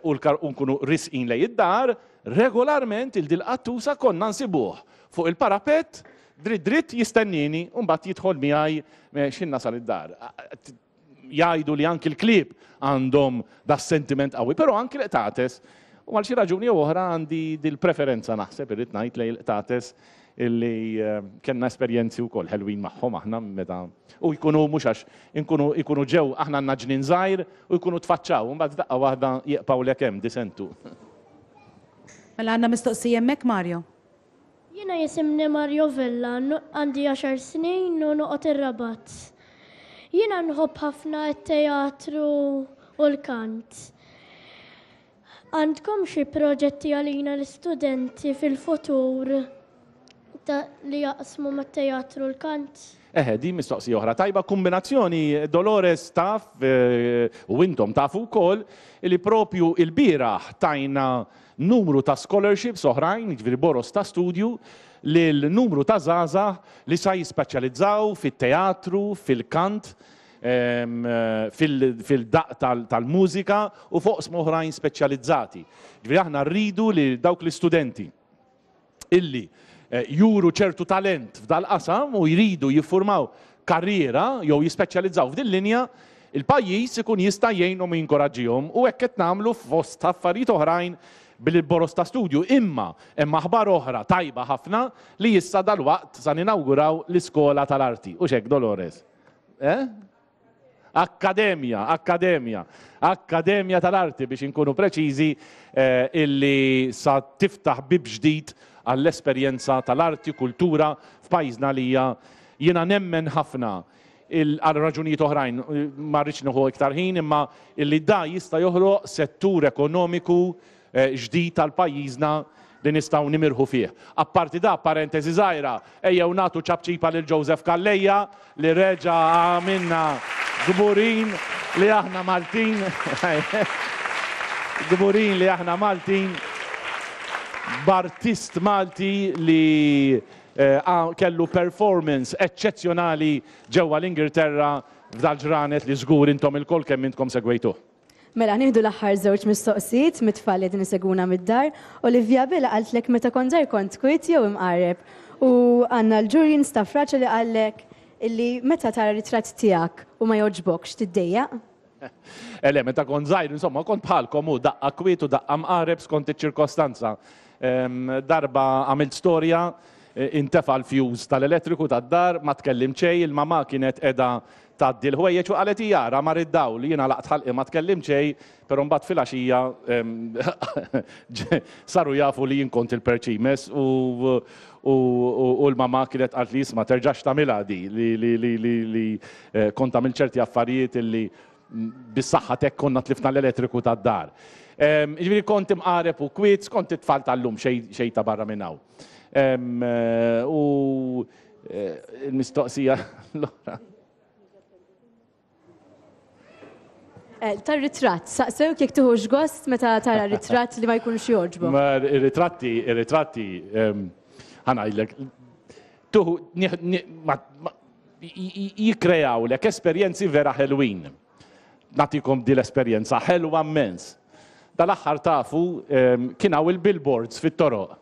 u nkunu risqin lejn id-dar, regolarment il dil-qattusa konna nsibuh fuq il-parapett dritt dritt jistennieni u mbagħad jidħol miegħi x'ħin nasal id-dar. Jgħidu li anki l-klieb għandhom das-sentiment qawwi, però anki l-qtates u għal xi raġuni jew oħra għandi dil-preferenza naħseb irrid ngħid lejn il-qtates illi kellna esperjenzi wkoll ħelwin magħhom aħna meta u jkunu mhux għax inkunu jkunu ġew aħna għandna ġnien żgħir u jkunu tfaċċaw u mbagħad f'daqqa waħda jiqpgħulek hemm disentu. Mela għandna mistoqsija hemmhekk Mario. Jiena jisimni Mario Vella, għandi għaxar snin u noqgħod ir-Rabat. Jiena nħobb ħafna t-teatru u l-kant. Għandkom xi proġetti għalina l-istudenti fil-futur li jaqsmu mat-teatru u l-kant? Eħe, din mistoqsija oħra tajba. Kumbinazzjoni, Dolores taf u intom tafu wkoll li propju il-bieraħ tajna numru ta' scholarships oħrajn, jiġifieri boroż ta' studju, lil numru ta' żgħażagħ li sa jispeċjalizzaw fit-teatru, fil-kant, fil-daqq tal-mużika u f'oqsma oħrajn speċjalizzati. Ġifieri aħna rridu li dawk l-istudenti illi eh, juru ċertu talent f'dal-qasam u jridu jiffurmaw karriera jew jispeċjalizzaw f'din linja, il-pajjiż ikun jista' jgħinhom u jinkoraġġihom u hekk qed nagħmlu fost affarijiet oħrajn bil-boroż ta' studju. Imma hemm aħbar oħra tajba ħafna li issa dalwaqt sa ninawguraw l-iskola tal-arti. U xek, Dolores? Eh? Akkademja, akkademja, akkademja tal-arti biex inkunu preċiżi eh, illi sa tiftaħ bib ġdid għall-esperjenza tal-arti, kultura f'pajjiżna li hija jiena nemmen ħafna għal raġunijiet oħrajn, ma rridx nieħu iktar ħin, imma illi da jista' joħloq settur ekonomiku ġdid għal pajjiżna li nistgħu nimirħu fih. Apparti da, parentesi żgħira, ejjew nagħtu ċapċipa lil Joseph Calleja li reġa' għamilna kburin li aħna Maltin. Kburin li aħna Maltin b'artist Malti li eh, kellu performance eċċezzjonali ġewwa l-Ingilterra f'dal-ġranet li żgur intom ilkoll kemm intkom segwejtuh. Mela, nieħdu l-aħħar żewġ mistoqsijiet mit-tfal li qegħdin isegwuna mid-dar. Olivia Abela qaltlek meta kont żgħir kont kwiet jew imqarreb? U għandna l-Julian Stafrace li qallek illi meta tara ritratt tiegħek u ma jogħġbokx tiddejjaq? Eh le, meta kont żgħir, insomma, kont bħalkom u daqqa kwiet u daqqa mqarreb skont iċ-ċirkostanza. Darba għamilt storja, intefa' l-fuse tal-elettriku tad-dar, ma tkellimt xejn, il-mamà kienet qiegħda Tgħaddi l-ħwejjeġ u qalet hija ara mar id-dawl, jien għalaqt ħalqi ma tkellimt xejn, però mbagħad filgħaxija saru jafu li jien kont il-perċimes u u l-mamà kienet qaltli isma' terġax tagħmilha di li li li li li kont għamilt ċerti affarijiet illi bis-saħħa t'hekk konna tlifna l-elettriku tad-dar. Jiġifieri kont imqareb u kwiet skont it-tfal tal-lum xejn xejn ta' barra minn hawn. U Il-mistoqsija l-oħra. Eh, tar-ritratt, saqsewk jekk tieħux gost meta tara ritratt li ma jkunx jogħġbok. Ma ir-ritratti, ir-ritratti, ehm, ħanajlek, tuħu, jikkreawlek esperjenzi vera ħelwin. Nagħtikom din l-esperjenza ħelwa mmens. Dal-aħħar tafu ehm, kien hawn il-billboards fit-toroq.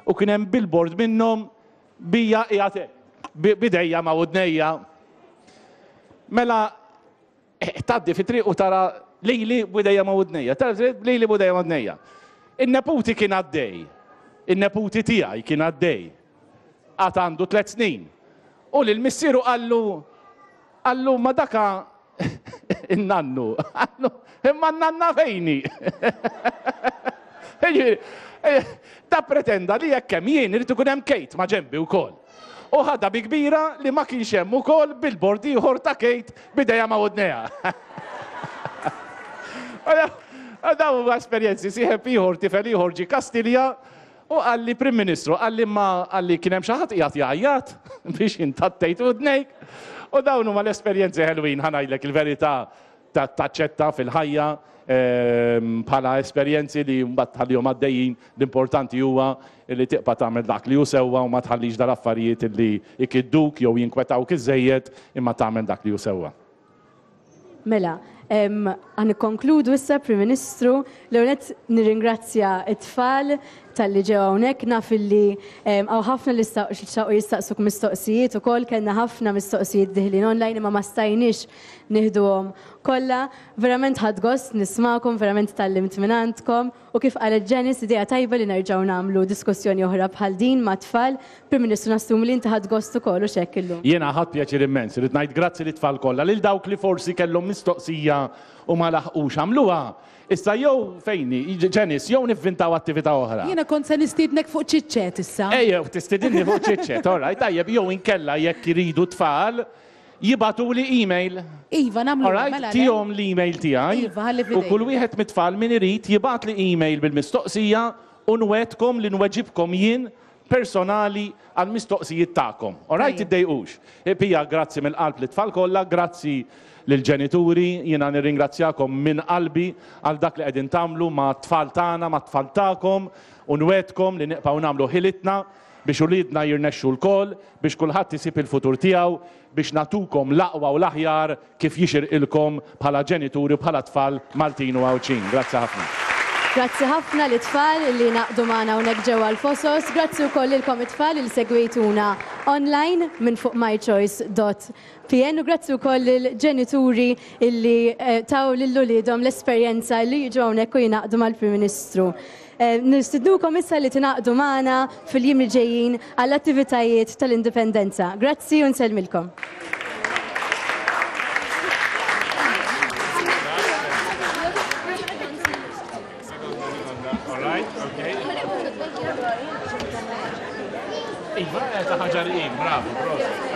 U kien hemm billboard minnhom Bija qiegħed hekk, b'idejja ma' widnejja. Mela tgħaddi fit-triq u tara lili b'idejja ma' widnejja, tara lili b'idejja ma' widnejja. In-neputi kien għaddej, in-neputi tiegħi kien għaddej. Għad għandu tlet snin. U lil missieru qallu, qallu ma daka In-nannu. Imma n-nanna fejni? Da pretenda li jekk hemm jien irid ikun hemm Kate ma' ġenbi wkoll. U ħadha bi kbira li ma kienx hemm ukoll billboard ieħor ta' Kate b'idejha ma' widnejha. Dawn huma esperjenzi. Sieħeb ieħor, tifel ieħor ġie Kastilja. U qalli Prim Ministru, qalli imma qalli kien hemm xi ħadd qiegħed jgħajjat biex intattejt udnejk. U dawn huma l-esperjenzi ħelwin ħa ngħidlek il-verità taċċetta fil-ħajja bħala esperjenzi li mbagħad tħallihom għaddejjin, l-importanti huwa li tibqa' tagħmel dak li hu sewwa u ma tħallix dal-affarijiet li jkidduk jew jinkwetawk iżżejjed imma tagħmel dak li hu sewwa. Mela, ħa nikkonkludu issa, Prim Ministru. L-ewwel nett nirringrazzja t-tfal talli ġew hawnhekk. Naf illi hawn ħafna li xtaqu jistaqsuk mistoqsijiet ukoll, kellna ħafna mistoqsijiet diħlin online imma ma stajniex nieħduhom kollha. Verament ħadt gost nismagħkom, verament tgħallimt mingħandkom u kif qalet Janice idea tajba li nerġgħu nagħmlu diskussjoni oħra bħal din mat-tfal. Prim Ministru nassumi li inti ħadt gost ukoll hux hekk illum? Jiena ħadt pjaċir immens. Irrid ngħid grazzi lit-tfal kollha, lil dawk li forsi kellhom mistoqsija u ma laħqux għamluha. Issa jew fejn hi, Janice, jew nivvintaw attività oħra. Jiena kont se nistiednek fuq chit-chat issa. Ejjew, tistidinni fuq chit-chat, all right, tajjeb, jew inkella jekk iridu t-tfal, Jibagħtuli email. Iva, nagħmlu All right, mela le. tihom l-email tiegħi. Iva, ħalli U f'idejk. kull wieħed mit-tfal min irid jibgħatli email bil-mistoqsija u nwegħdkom li nweġibkom jien personali għall-mistoqsijiet tagħkom. All right, Tajjeb. tiddejqux. Pia, grazzi mill-qalb lit-tfal kollha, grazzi lill-ġenituri, jiena nirringrazzjakom minn qalbi għal dak li qegħdin tagħmlu mat-tfal tagħna, mat-tfal tagħkom u nwegħdkom li nibqgħu nagħmlu ħilitna biex uliedna jirnexxu lkoll, biex kulħadd isib il-futur tiegħu, biex nagħtukom l-aqwa u l-aħjar kif jixirqilkom bħala ġenituri u bħala tfal Maltin u Għawdxin. Grazzi ħafna. Grazzi ħafna lit-tfal li ngħaqdu magħna hawnhekk ġewwa l-Fosos. Grazzi wkoll lilkom it-tfal li segwejtuna online minn fuq mychoice dot PN u grazzi wkoll lill-ġenituri illi taw lil uliedhom l-esperjenza li jiġu hawnhekk u jingħaqdu mal-Prim Ministru. Nistidnukom issa li tingħaqdu magħna fil-jiem li ġejjin għall-attivitajiet tal-Indipendenza. Grazzi u nsellmilkom. Iva, ta' ħaġar bravo, proset.